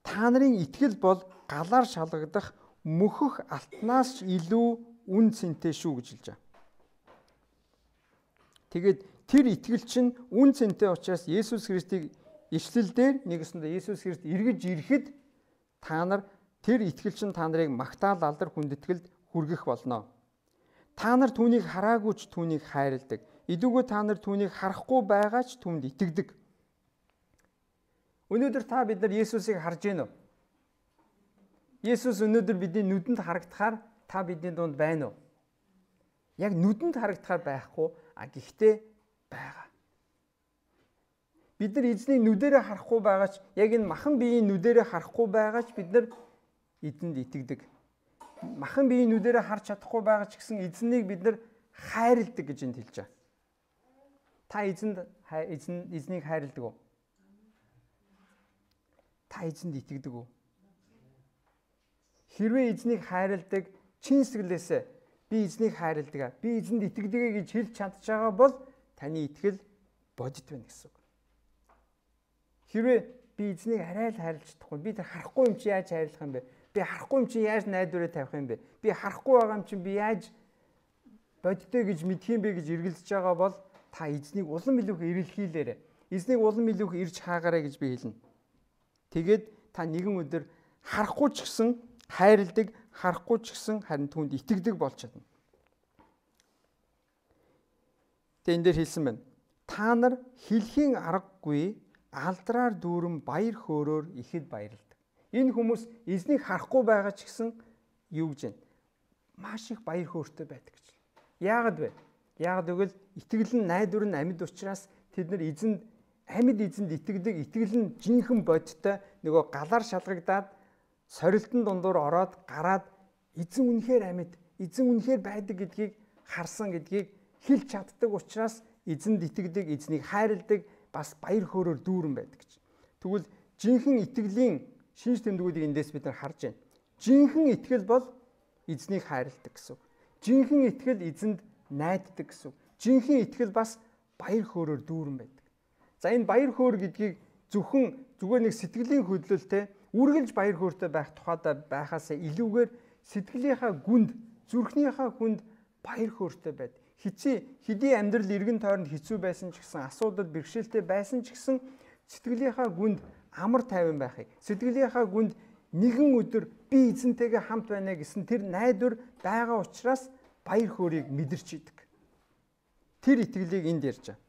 та нарын итгэл бол галаар шалгагдах мөхөх алтнаас илүү үн цэнтэй шүү гэж хэлж байгаа. Тэгээд тэр итгэл чинь үн цэнтэй учраас Есүс Христийг ишлэлдээр нэгэсэндээ Есүс Христ эргэж ирэхэд та нар тэр итгэл чинь та нарыг магтаал алдар хүндэтгэлд хүргэх болно. Та нар түүнийг хараагүй ч түүнийг хайрладаг. Идүүгөө та нар түүнийг харахгүй байгаа ч түүнд итгэдэг. Өнөөдөр та бид нар Есүсийг харж байна уу? Есүс өнөөдөр бидний нүдэнд харагдахаар та бидний дунд байна уу? Яг нүдэнд харагдахаар байхгүй, гэхдээ байгаа. Бид нар эзнийг нүдэрээ харахгүй байгаа ч яг энэ махан биеийн нүдэрээ харахгүй байгаа ч бид нар эзэнд итгэдэг. Махан биеийн нүдэрээ харж чадахгүй байгаа ч гэсэн эзнийг бид нар хайрладаг гэж энд хэлж байгаа. Та эзнийг хайрладаг уу? Та эзэнд итгэдэг үү? Хэрвээ эзнийг хайрладаг, чин сэтгэлээсээ би эзнийг хайрладаг, би эзэнд итгэдэг гэж хэлж чадж байгаа бол таны итгэл бодит байна гэсэн үг. Хэрвээ би эзнийг арай л хайрлаж чадахгүй, би тэр харахгүй юм чи яаж хайрлах юм бэ? Би харахгүй юм чи яаж найдвараа тавих юм бэ? Би харахгүй байгаа юм чи би яаж бодиттой гэж мэдх юм бэ гэж эргэлзэж байгаа бол та эзнийг улам илүүх эрэлхийлээрэй. Эзнийг улам илүүх ирж хаагаарай гэж би хэлнэ. Тэгээд та нэгэн өдөр харахгүй ч гэсэн хайрладаг, харахгүй ч гэсэн харин түүнд итгэдэг болж чадна. Тэгээд энэ дээр хэлсэн байна. Та нар хэлхийн аргагүй алдраар дүүрэн баяр хөөрөөр ихэд баярлдаг. Энэ хүмүүс эзнийг харахгүй байгаа ч гэсэн юу гэж байна? Маш их баяр хөөртэй байдаг гэж. Яагаад вэ? Яагаад гэвэл итгэл нь найдвар нь амьд учраас тэд нар амьд эзэнд итгэдэг. Итгэл нь жинхэнэ бодиттой нөгөө галаар шалгагдаад сорилтын дундуур ороод гараад эзэн үнэхээр амьд, эзэн үнэхээр байдаг гэдгийг харсан гэдгийг хэлж чаддаг учраас эзэнд итгэдэг, эзнийг хайрладаг, бас баяр хөөрөөр дүүрэн байдаг гэж. Тэгвэл жинхэнэ итгэлийн шинж тэмдгүүдийг эндээс бид нар харж байна. Жинхэнэ итгэл бол эзнийг хайрладаг гэсэн үг. Жинхэнэ итгэл эзэнд найддаг гэсэн үг. Жинхэнэ итгэл бас баяр хөөрөөр дүүрэн байдаг. За энэ баяр хөөр гэдгийг зүгээр нэг сэтгэлийн хөдлөлтэй үргэлж баяр хөөртэй байх тухайдаа байхаасаа илүүгээр сэтгэлийнхаа гүнд, зүрхнийхаа хүнд баяр хөөртэй байд. Хэдий амьдрал эргэн тойронд хэцүү байсан ч гэсэн, асуудал бэрхшээлтэй байсан ч гэсэн сэтгэлийнхаа гүнд амар тайван байхыг, сэтгэлийнхаа гүнд нэгэн өдөр би эзэнтэйгээ хамт байна гэсэн тэр найдвар байгаа учраас баяр хөөргийг мэдэрч идэг. Тэр итгэлийг энд ярьж байгаа.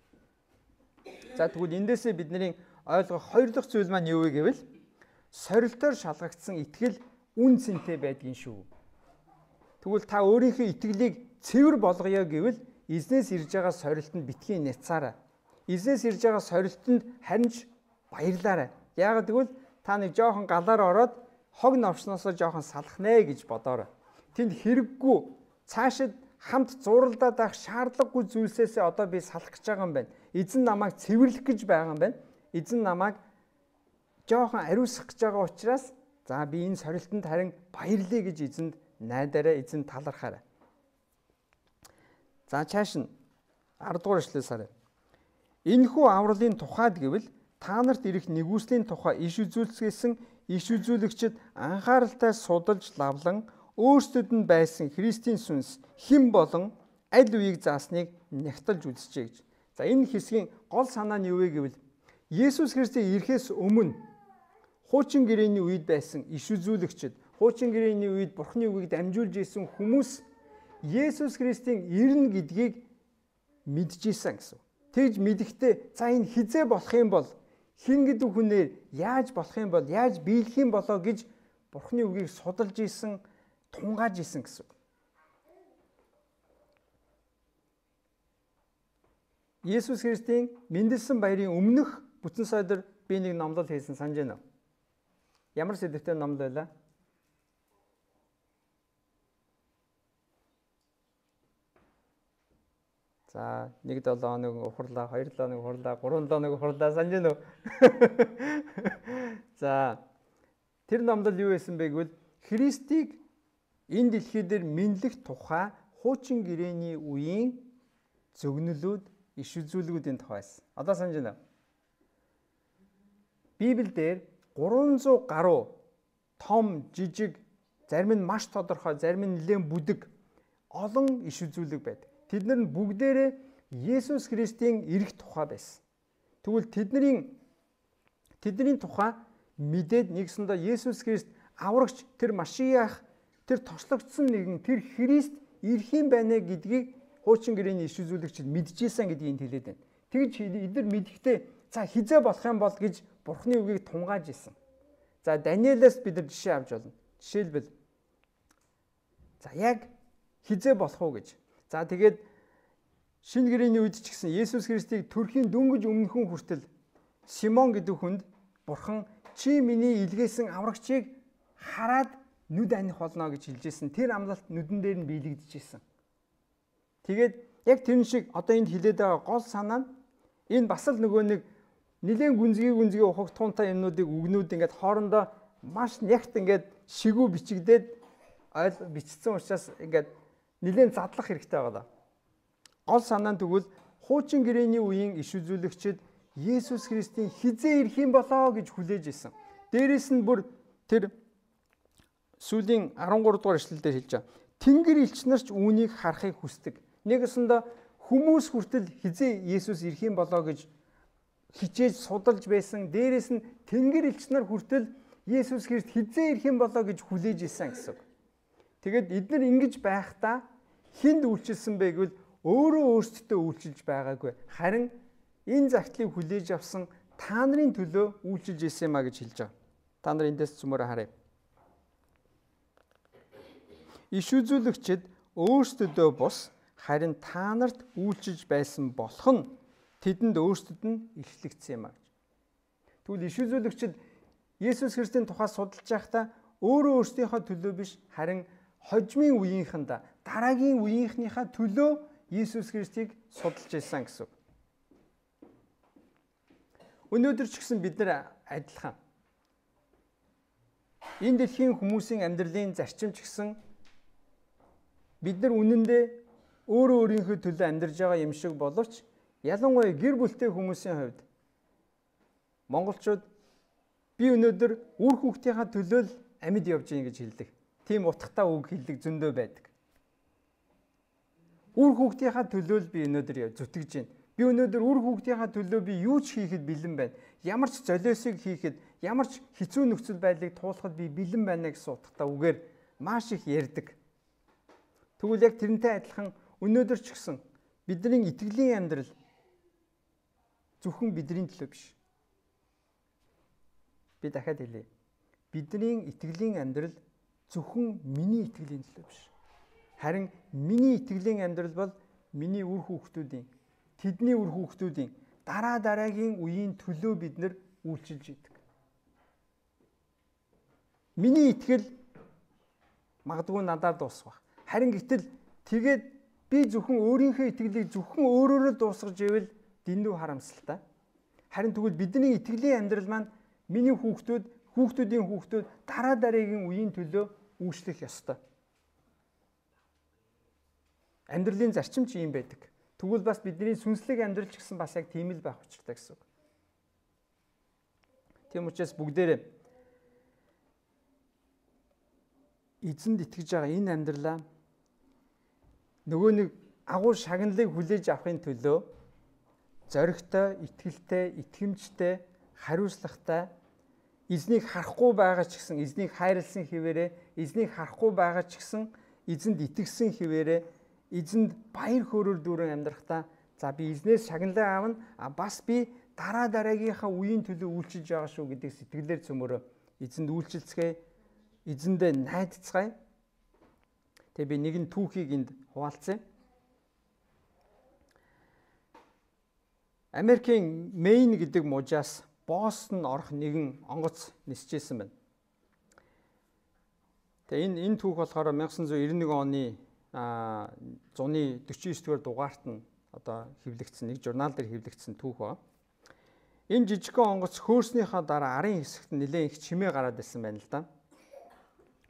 За тэгвэл эндээсээ бидний ойлгох хоёр дахь зүйл маань юу вэ гэвэл сорилтоор шалгагдсан итгэл үн цэнтэй байдгийн шүү. Тэгвэл та өөрийнхөө итгэлийг цэвэр болгоё гэвэл эзнээс ирж байгаа сорилтанд битгий няцаарай. Эзнээс ирж байгаа сорилтанд харин ч баярлаарай. Яагаад гэвэл та нэг жоохон галаар ороод хог новшноосоо жоохон салах нэ гэж бодоорой. Тэнд хэрэггүй цаашид хамт зуралдаад байх шаардлагагүй зүйлсээс одоо би салах гэж байгаа юм байна. Эзэн намайг цэвэрлэх гэж байгаа юм байна. Эзэн намайг жоохон ариусгах гэж байгаа учраас за би энэ сорилтанд харин баярлая гэж эзэнд найдаарай, эзэнд талархаарай. За чааш нь 10 дугаар эшлэлээс харъя. Энэхүү авралын тухайд гэвэл та нарт ирэх нэгүслийн тухай иш үзүүлсэн иш үзүүлэгчид анхааралтай судалж лавлан өөрсдөд нь байсан Христийн сүнс хэн болон аль үеийг заасныг нягтлж үзчихье гэж. За энэ хэсгийн гол санаа нь юу вэ гэвэл Есүс Христийн ирэхээс өмнө хуучин гэрээний үед байсан иш үзүүлэгчид, хуучин гэрээний үед Бурхны үгийг дамжуулж исэн хүмүүс Есүс Христийн ирнэ гэдгийг мэдчихсэн гэсэн. Тэгж мэдэхдээ за энэ хизээ болох юм бол хэн гэдэг хүнээр яаж болох юм бол яаж биелэх юм болоо гэж Бурхны үгийг судалж исэн, тунгааж исэн гэсэн. Есүс Христийн мэндэлсэн баярын өмнөх бүтэн сойдор би нэг номлол хийсэн санаж байна уу? Ямар сэдвтэй номлол байлаа? За 1-7 хоног ухарлаа, 2-7 хоног ухарлаа, 3-7 хоног ухарлаа санаж байна уу? За тэр номлол юу байсан бэ гэвэл Христийг энэ дэлхий дээр мэдлэх тухай хуучин гэрээний үеийн зөгнөлүүд, иш үзүүлгүүдийн тухай байсан. Одоо санаж байна уу? Библиэлд 300 гаруй том, жижиг, зарим нь маш тодорхой, зарим нь нэлээд бүдэг олон иш үзүүлэг байдаг. Тэд нар нь бүгдээрээ Есүс Христийн ирэх тухай байсан. Тэгвэл тэдний тухай мэдээд нэгсэндээ Есүс Христ аврагч, тэр Машиах, тэр тослогдсон нэгэн, тэр Христ ирэх юм байна гэдгийг хуучин гэрээний иш үзүүлэгчид мэдчихсэн гэдгийг хэлээд байна. Тэгж эдгээр мэдэхдээ за хизээ болох юм бол гэж Бурхны үгийг тунгааж исэн. За Даниэлээс бид нар жишээ авч болно. Жишээлбэл за яг хизээ болох уу гэж. За тэгээд шинэ гэрээний үед ч гэсэн Есүс Христийг төрхийн дөнгөж өмнөхөн хүртэл Симон гэдэг хүнд Бурхан чи миний илгээсэн аврагчийг хараад нүд аних болно гэж хэлжсэн. Тэр амлалт нүдэн дээр нь биелэгдэжсэн. Тэгээд яг тэр шиг одоо энд хэлээд байгаа гол санаа нь энэ бас л нөгөө нэг нэлээд гүнзгий ухаг туунтай юмнуудыг үгнүүд ингээд хоорондоо маш нягт ингээд шигүү бичигдээд бичсэн учраас ингээд нэлээд задлах хэрэгтэй байгаа. Гол санаа нь тэгвэл хуучин гэрээний үеийн иш үзүүлэгчид Есүс Христийн хизээ ирэх юм болоо гэж хүлээж исэн. Дээрээс нь бүр тэр сүүлийн 13 дугаар эшлэлдэр хэлж байгаа. Тэнгэр элч нар ч үүнийг харахыг хүсдэг. Нэгэсэндээ Хүмүүс хүртэл хизээ Есүс ирэх юм болоо гэж хичээж судалж байсан. Дээрээс нь Тэнгэр элч нар хүртэл Есүс Христ хизээ ирэх юм болоо гэж хүлээж исэн гэсэн. Тэгээд эдгээр ингэж байхдаа хинд үйлчилсэн бэ гэвэл өөрөө өөрсдөө үйлчилж байгаагүй. Харин энэ загтлыг хүлээж авсан та нарын төлөө үйлчилж исэн юмаа гэж хэлж байгаа. Та нар эндээс цөмөрө харъя. Иш үзүүлэгчид өөрсдөдөө бус харин та нарт үйлчилж байсан болох нь тэдэнд өөрсдөд нь илчлэгдсэн юм аа гэж. Тэгвэл иш үзүүлэгчид Есүс Христийн тухай судалж байхдаа өөрөө өөрсдийнхөө төлөө биш харин хожмын үеийнхэндээ дараагийн үеийнхнийхээ төлөө Есүс Христийг судалж байсан гэсэн. Өнөөдөр ч гэсэн бид нар адилхан. Энэ дэлхийн хүмүүсийн амьдралын зарчим ч гэсэн бид нар үнэндээ өөрөө өөрийнхөө төлөө амьдарж байгаа юм шиг боловч ялангуяа гэр бүлтэй хүмүүсийн хувьд монголчууд би өнөөдөр үр хүүхдийнхаа төлөө л амьд явж гин гэж хэлдэг. Тийм утгатай үг хэлдэг зөндөө байдаг. Үр хүүхдийнхаа төлөө л би өнөөдөр зүтгэж гин. Би өнөөдөр үр хүүхдийнхаа төлөө би юу ч хийхэд бэлэн байна. Ямар ч золиосыг хийхэд, ямар ч хэцүү нөхцөл байдлыг туулахад би бэлэн байна гэсэн утгатай үгээр маш их ярьдаг. Тэгвэл яг тэрнтэй адилхан өнөөдөр ч гэсэн бидний итгэлийн амьдрал зөвхөн бидний төлөө биш. Би дахиад хэлье. Бидний итгэлийн амьдрал зөвхөн миний итгэлийн төлөө биш. Харин миний итгэлийн амьдрал бол миний үр хүүхдүүдийн, тэдний үр хүүхдүүдийн дараагийн үеийн төлөө бид нар үйлчилж идэг. Миний итгэл магадгүй надад дуусах. Харин гэтэл тэгээд би зөвхөн өөрийнхөө итгэлийг зөвхөн өөрөөрөө дуусгаж ивэл дэндүү харамсалтай. Харин тэгвэл бидний итгэлийн амьдрал маань миний хүүхдүүдийн хүүхдүүд дараагийн үеийн төлөө үйлчлэх ёстой. Амьдралын зарчим ч ийм байдаг. Тэгвэл бас бидний сүнслэг амьдрал ч гэсэн бас яг тийм л байх учиртай гэсэн үг. Тийм учраас бүгдээрээ эзэнд итгэж байгаа энэ амьдралаа нөгөө нэг агуу шагналыг хүлээж авахын төлөө зоригтой, итгэлтэй, итгэмжтэй, хариуцлагатай эзнийг харахгүй байгаа ч гэсэн эзнийг хайрлсан хэвээрээ, эзнийг харахгүй байгаа ч гэсэн эзэнд итгэсэн хэвээрээ, эзэнд баяр хөөрөөр дүүрэн амьдрахдаа за би эзнээс шагналаа аавна, бас би дараагийнхаа үеийн төлөө үйлчилж байгаа шүү гэдэг сэтгэлээр цөмөрөө эзэнд үйлчилцгээе, эзэндээ найдацгаая. Тэгээ би нэгэн түүхийг энд хуваалцъя. Америкийн Мэйн гэдэг мужаас Бостон орох нэгэн онгоц нисчээсэн байна. Тэгээ энэ түүх болохоор 1991 оны 149-р дугаарт нь одоо хэвлэгдсэн нэг журнал дээр хэвлэгдсэн түүх ба. Энэ жижигхэн онгоц хөөснийхаа дараа арын хэсэгт нэлээд их чимээ гараад ирсэн байна л да.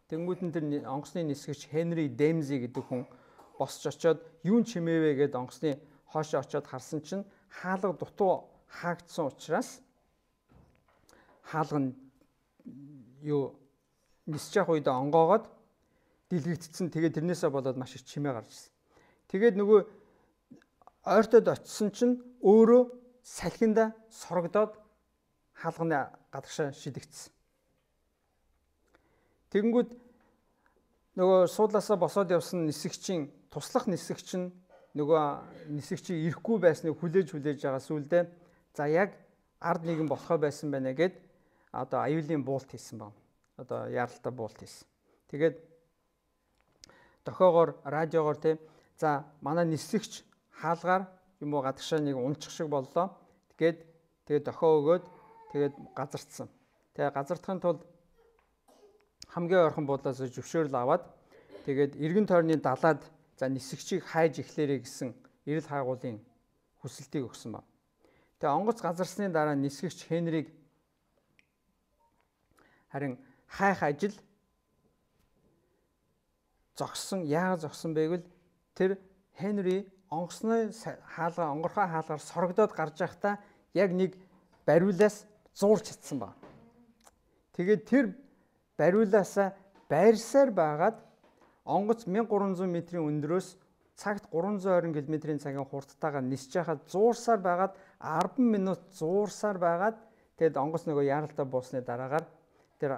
Тэнгүүд нь тэр онгоцны нисгэгч Хенри Демзи гэдэг хүн босч очоод юун чимээвэ гэд онгоцны хоошоо очоод харсан чинь хаалга дутуу хаагдсан учраас хаалга нь нисэж явах үед онгоогоод дэлгэгдсэн. Тэгээд тэрнээсээ болоод маш их чимээ гарч ирсэн. Тэгээд нөгөө ойртоод очисон чинь өөрөө салхинда сорогдоод хаалганы гадагшаа шидэгдсэн. Тэгэнгүүт нөгөө суудлаасаа босоод явсан нисгэгчийн туслах нисгэгч нь нөгөө нисгэгчийг ирэхгүй байсныг хүлээж байгаа сүулдэ за яг ард нэгэн болохоо байсан байна гэд одоо аюулын буулт хийсэн байна. Одоо яаралтай буулт хийсэн. Тэгээд дохоогоор радиогоор за манай нисгэгч хаалгаар юм уу гадагшаа нэг унчих шиг боллоо. Тэгээд дохоо өгөөд тэгээд газардсан. Тэгээд газардахын тулд хамгийн ойрхон буудлаас зөвшөөрөл аваад тэгээд эргэн тойрны далаад за нисгэгчийг хайж эхлээрэй гэсэн эрэл хайгуулын хүсэлтийг өгсөн ба. Тэгээ онгоц газарсны дараа нисгэгч Хенриг харин хайх ажил зогссон. Яагаад зогссон бэ гэвэл тэр Хенри онгорхой хаалгаар сорогдоод гарч байхдаа яг нэг бариулаас зуурч чадсан ба. Тэгээд тэр бариулаасаа байрсаар байгаад онгоц 1300 метрийн өндрөөс цагт 320 км/цагийн хурдтайгаар нисэж байхад зуурсаар байгаад 10 минут зуурсаар байгаад тэгэд онгоц нөгөө яаралтай буусны дараагаар тэр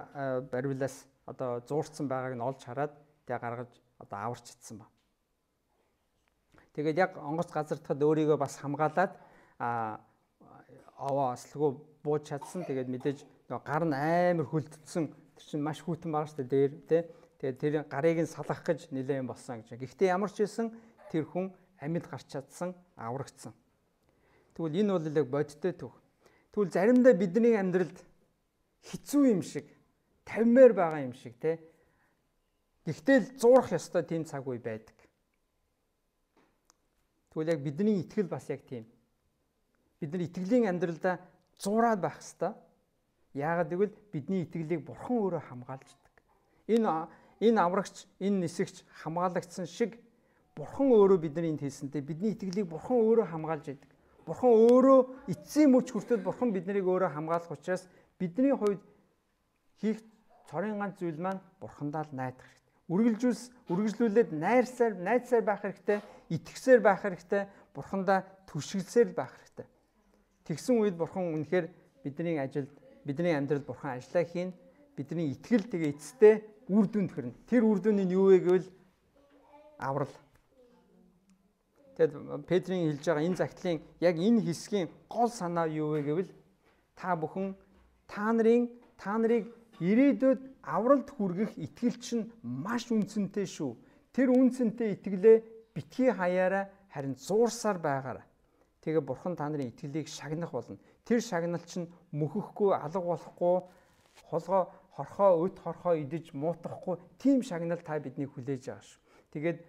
барилаас одоо зуурцсан байгааг нь олж хараад тэгээ гаргаж одоо аварч ицсэн ба. Тэгээд яг онгоц газардахад өөрийгөө бас хамгаалаад овоо ослогоо бууж чадсан. Тэгээд мэдээж нөгөө гар нь амар хөлдсөн. Тэр чинь маш хүйтэн байгаа шүү дээ дээр тий. Тэгээд тэр гарыг нь салгах гэж нэлээд юм болсон гэж. Гэхдээ ямар ч хэлсэн тэр хүн амьд гарч чадсан, аврагдсан. Тэгвэл энэ бол яг бодиттой төв. Тэгвэл заримдаа бидний амьдралд хэцүү юм шиг, тавмаар байгаа юм шиг тий. Гэхдээ л зуурах ёстой тийм цаг үе байдаг. Тэгвэл яг бидний итгэл бас яг тийм. Бид нар итгэлийн амьдралдаа зуураад байх ёстой. Яагаад гэвэл бидний итгэлийг Бурхан өөрөө хамгаалж идэг. Энэ аврагч, энэ нисэгч хамгаалагдсан шиг Бурхан өөрөө бидний энд хийсэнтэй бидний итгэлийг Бурхан өөрөө хамгаалж идэг. Бурхан өөрөө эцсийн мөч хүртэл Бурхан биднийг өөрөө хамгаалах учраас бидний хувьд хийх цорын ганц зүйл маань Бурхандаа л найдах хэрэгтэй. Үргэлжлүүлээд найдсаар байх хэрэгтэй, итгэсээр байх хэрэгтэй, Бурхандаа түшиглсээр байх хэрэгтэй. Тэгсэн үед Бурхан үнэхээр бидний ажилд, бидний амьдралд Бурхан ажиллаа хийн, бидний итгэл тэгээ эцэстээ үр дүнд хүрнэ. Тэр үр дүн нь юу вэ гэвэл аврал. Тэгэд Петрийн хэлж байгаа энэ загтлын яг энэ хэсгийн гол санаа юу вэ гэвэл та бүхэн та нарыг ирээдүйд авралд хүргэх итгэл чинь маш үнцэнтэй шүү. Тэр үнцэнтэй итгэлээ битгий хаяараа харин зуурсаар байгаарай. Тэгээ Бурхан та нарын итгэлийг шагнах болно. Тэр шагнал чинь мөхөхгүй, алга болохгүй, хорхоо өд хорхоо идэж муутгахгүй тийм шагнал та биднийг хүлээж байгаа шүү. Тэгээд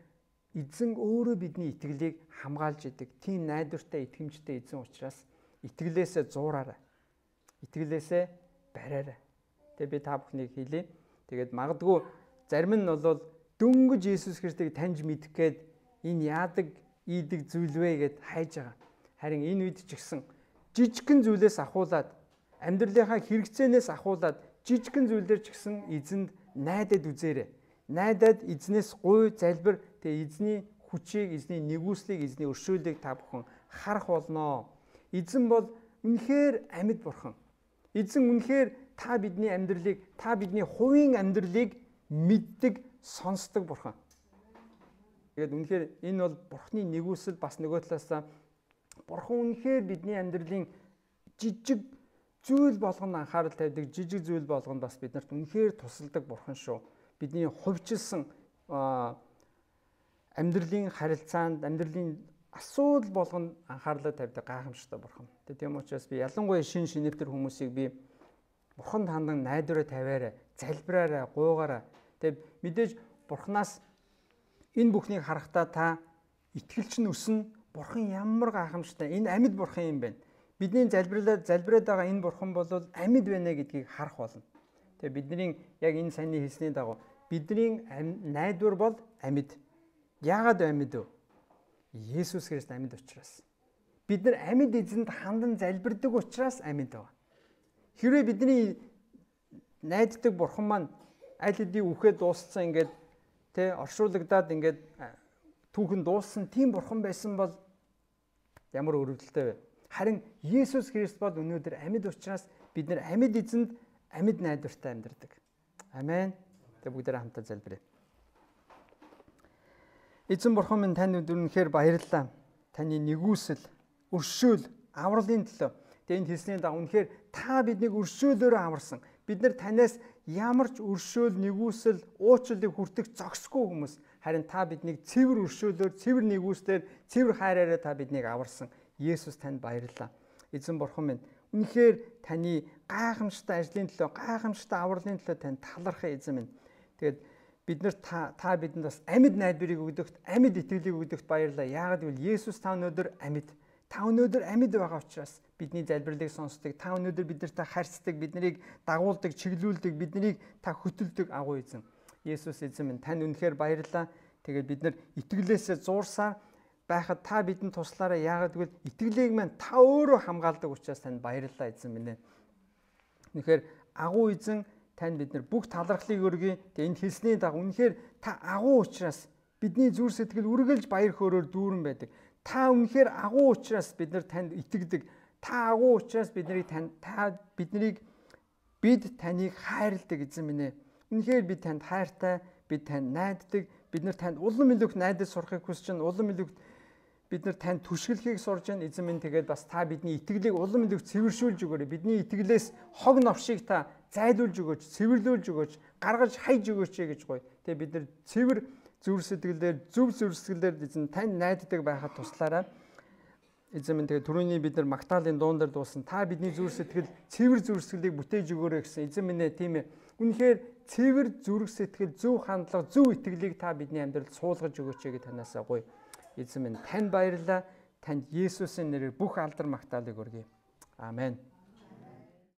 эзэн өөрөө бидний итгэлийг хамгаалж идэг. Тийм найдвартай, итгэмжтэй эзэн учраас итгэлээсээ зуураарай. Итгэлээсээ бариарай. Тэгээ би та бүхнийг хэлье. Тэгээд магадгүй зарим нь бол дөнгөж Иесус Христийг таньж мэдэх гээд энэ яадаг, ийдэг зүйл вэ гэд хайж байгаа. Харин энэ үед ч гэсэн жижигхэн зүйлээс ахуулаад, амьдралынхаа хэрэгцээнээс ахуулаад, жижигхэн зүйлээр ч гэсэн эзэнд найдаад үзээрэй. Найдаад эзнээс гуй залбир, тэгээ эзний хүчийг, эзний нэгүслийг, эзний өршөөлийг та бүхэн харах болноо. Эзэн бол үнэхээр амьд Бурхан. Эзэн үнэхээр та бидний амьдралыг, та бидний хувийн амьдралыг мэддэг, сонсдог Бурхан. Тэгээд үнэхээр энэ бол Бурханы нэгүсэл, бас нөгөө талаасаа Бурхан үнэхээр бидний амьдралын жижиг зүйл болгонд анхаарал тавьдаг, жижиг зүйл болгонд бас биднэрт үнэхээр тусалдаг Бурхан шүү. Бидний хувьчилсан амьдралын харилцаанд, амьдралын асуудал болгонд анхаарлаа тавьдаг гайхамшигтай Бурхан. Тийм учраас би ялангуяа шинэвтер хүмүүсийг би Бурхан хандан найдвараа тавиараа, залбираараа, гуйгаараа. Тэгээд мэдээж Бурханаас энэ бүхнийг харахтаа та итгэлч нь өснө. Бурхан ямар гайхамшигтай, энэ амьд Бурхан юм байна. Бидний залбираад байгаа энэ Бурхан бол амьд байна гэдгийг харах болно. Тэгээ бидний яг энэ саяны хэлсний дагуу бидний найдвар бол амьд. Яагаад амьд вэ? Есүс Христ амьд учраас. Бид нар амьд эзэнд хандан залбирдаг учраас амьд байгаа. Хэрвээ бидний найддаг Бурхан маань аль хэдийн үхээд дууссан ингээд оршуулгадаад ингээд түүхэн дууссан тийм Бурхан байсан бол ямар өрөвдөлтэй вэ? Харин Есүс Христ бол өнөөдөр амьд учраас бид нар амьд эзэнд амьд найдвартай амьдардаг. Амен. Тэгээ бүгдээрээ хамтаа залбирая. Эзэн Бурхан минь танд үнэхээр баярлалаа. Таны нэгүсэл, өршөөл, авралын төлөө. Тэгээ энэ хэлсний дагуу үнэхээр та биднийг өршөөлөөрөө аварсан. Бид нар танаас ямар ч өршөөл, нэгүсэл, уучлалыг хүртэх зогсгүй хүмүүс. Харин та биднийг цэвэр өршөөлөөр, цэвэр нэгүслээр, цэвэр хайраараа та биднийг аварсан. Есүс танд баярлалаа. Эзэн Бурхан минь үнэхээр таны гайхамшигтай ажлын төлөө, гайхамшигтай авралын төлөө танд талархах эзэн минь. Тэгээд бид нар та бидэнд бас амьд найдварыг өгдөгт, амьд итгэлийг өгдөгт баярлалаа. Яагаад гэвэл Есүс та өнөөдөр амьд. Та өнөөдөр амьд байгаа учраас бидний залбирлыг сонсдог. Та өнөөдөр биднэртэй харьцдаг, биднийг дагуулдаг, чиглүүлдэг, биднийг та хөтөлдөг агуу эзэн. Есүс эзэн минь танд үнэхээр баярлалаа. Тэгээд бид нар итгэлээсээ зуурсаар байхад та бидэнд туслаарай. Яагаад гэвэл итгэлийг маань та өөрөө хамгаалдаг учраас танд баярлалаа эзэн минь. Үнэхээр агуу эзэн танд бид нар бүх талархлыг өргөе. Тэгээд энэ хэлсний дагуу үнэхээр та агуу учраас Бидний зүрх сэтгэл үргэлж баяр хөөрөөр дүүрэн байдаг. Та үнэхээр агуу учраас бид нар танд итгэдэг. Та агуу учраас бид таныг хайрладаг эзэн минь ээ. Үнэхээр бид танд хайртай, бид танд найддаг. Бид нар танд улам илүүх найдаж сурахыг хүсэж байна. Улам илүүх бид нар танд түшгэлхийг сурж байна. Эзэн минь тэгээд бас та бидний итгэлийг улам илүүх цэвэршүүлж өгөөрэй. Бидний итгэлээс хог новшийг та зайлуулж өгөөч, цэвэрлүүлж өгөөч, гаргаж хайж өгөөч гэж гоё. Тэгээд бид нар цэвэр зүрх сэтгэлээр, зөв зүрх сэтгэлээр эзэн тань найддаг байхад туслаарай. Эзэн минь тэгээд түрүүний бид нар Магдалины дуун дээр дуусан та бидний зүрх сэтгэл, цэвэр зүрх сэтгэлийг бүтээж өгөөрэй гэсэн. Эзэн минь ээ, тийм ээ. Үнэхээр цэвэр зүрх сэтгэл, зөв хандлага, зөв итгэлийг та бидний амьдралд суулгаж өгөөч гэж танаасаа гоё. Эзэн минь танд баярлалаа. Танд Есүсийн нэрээр бүх алдар магтаалыг өргөе. Амен.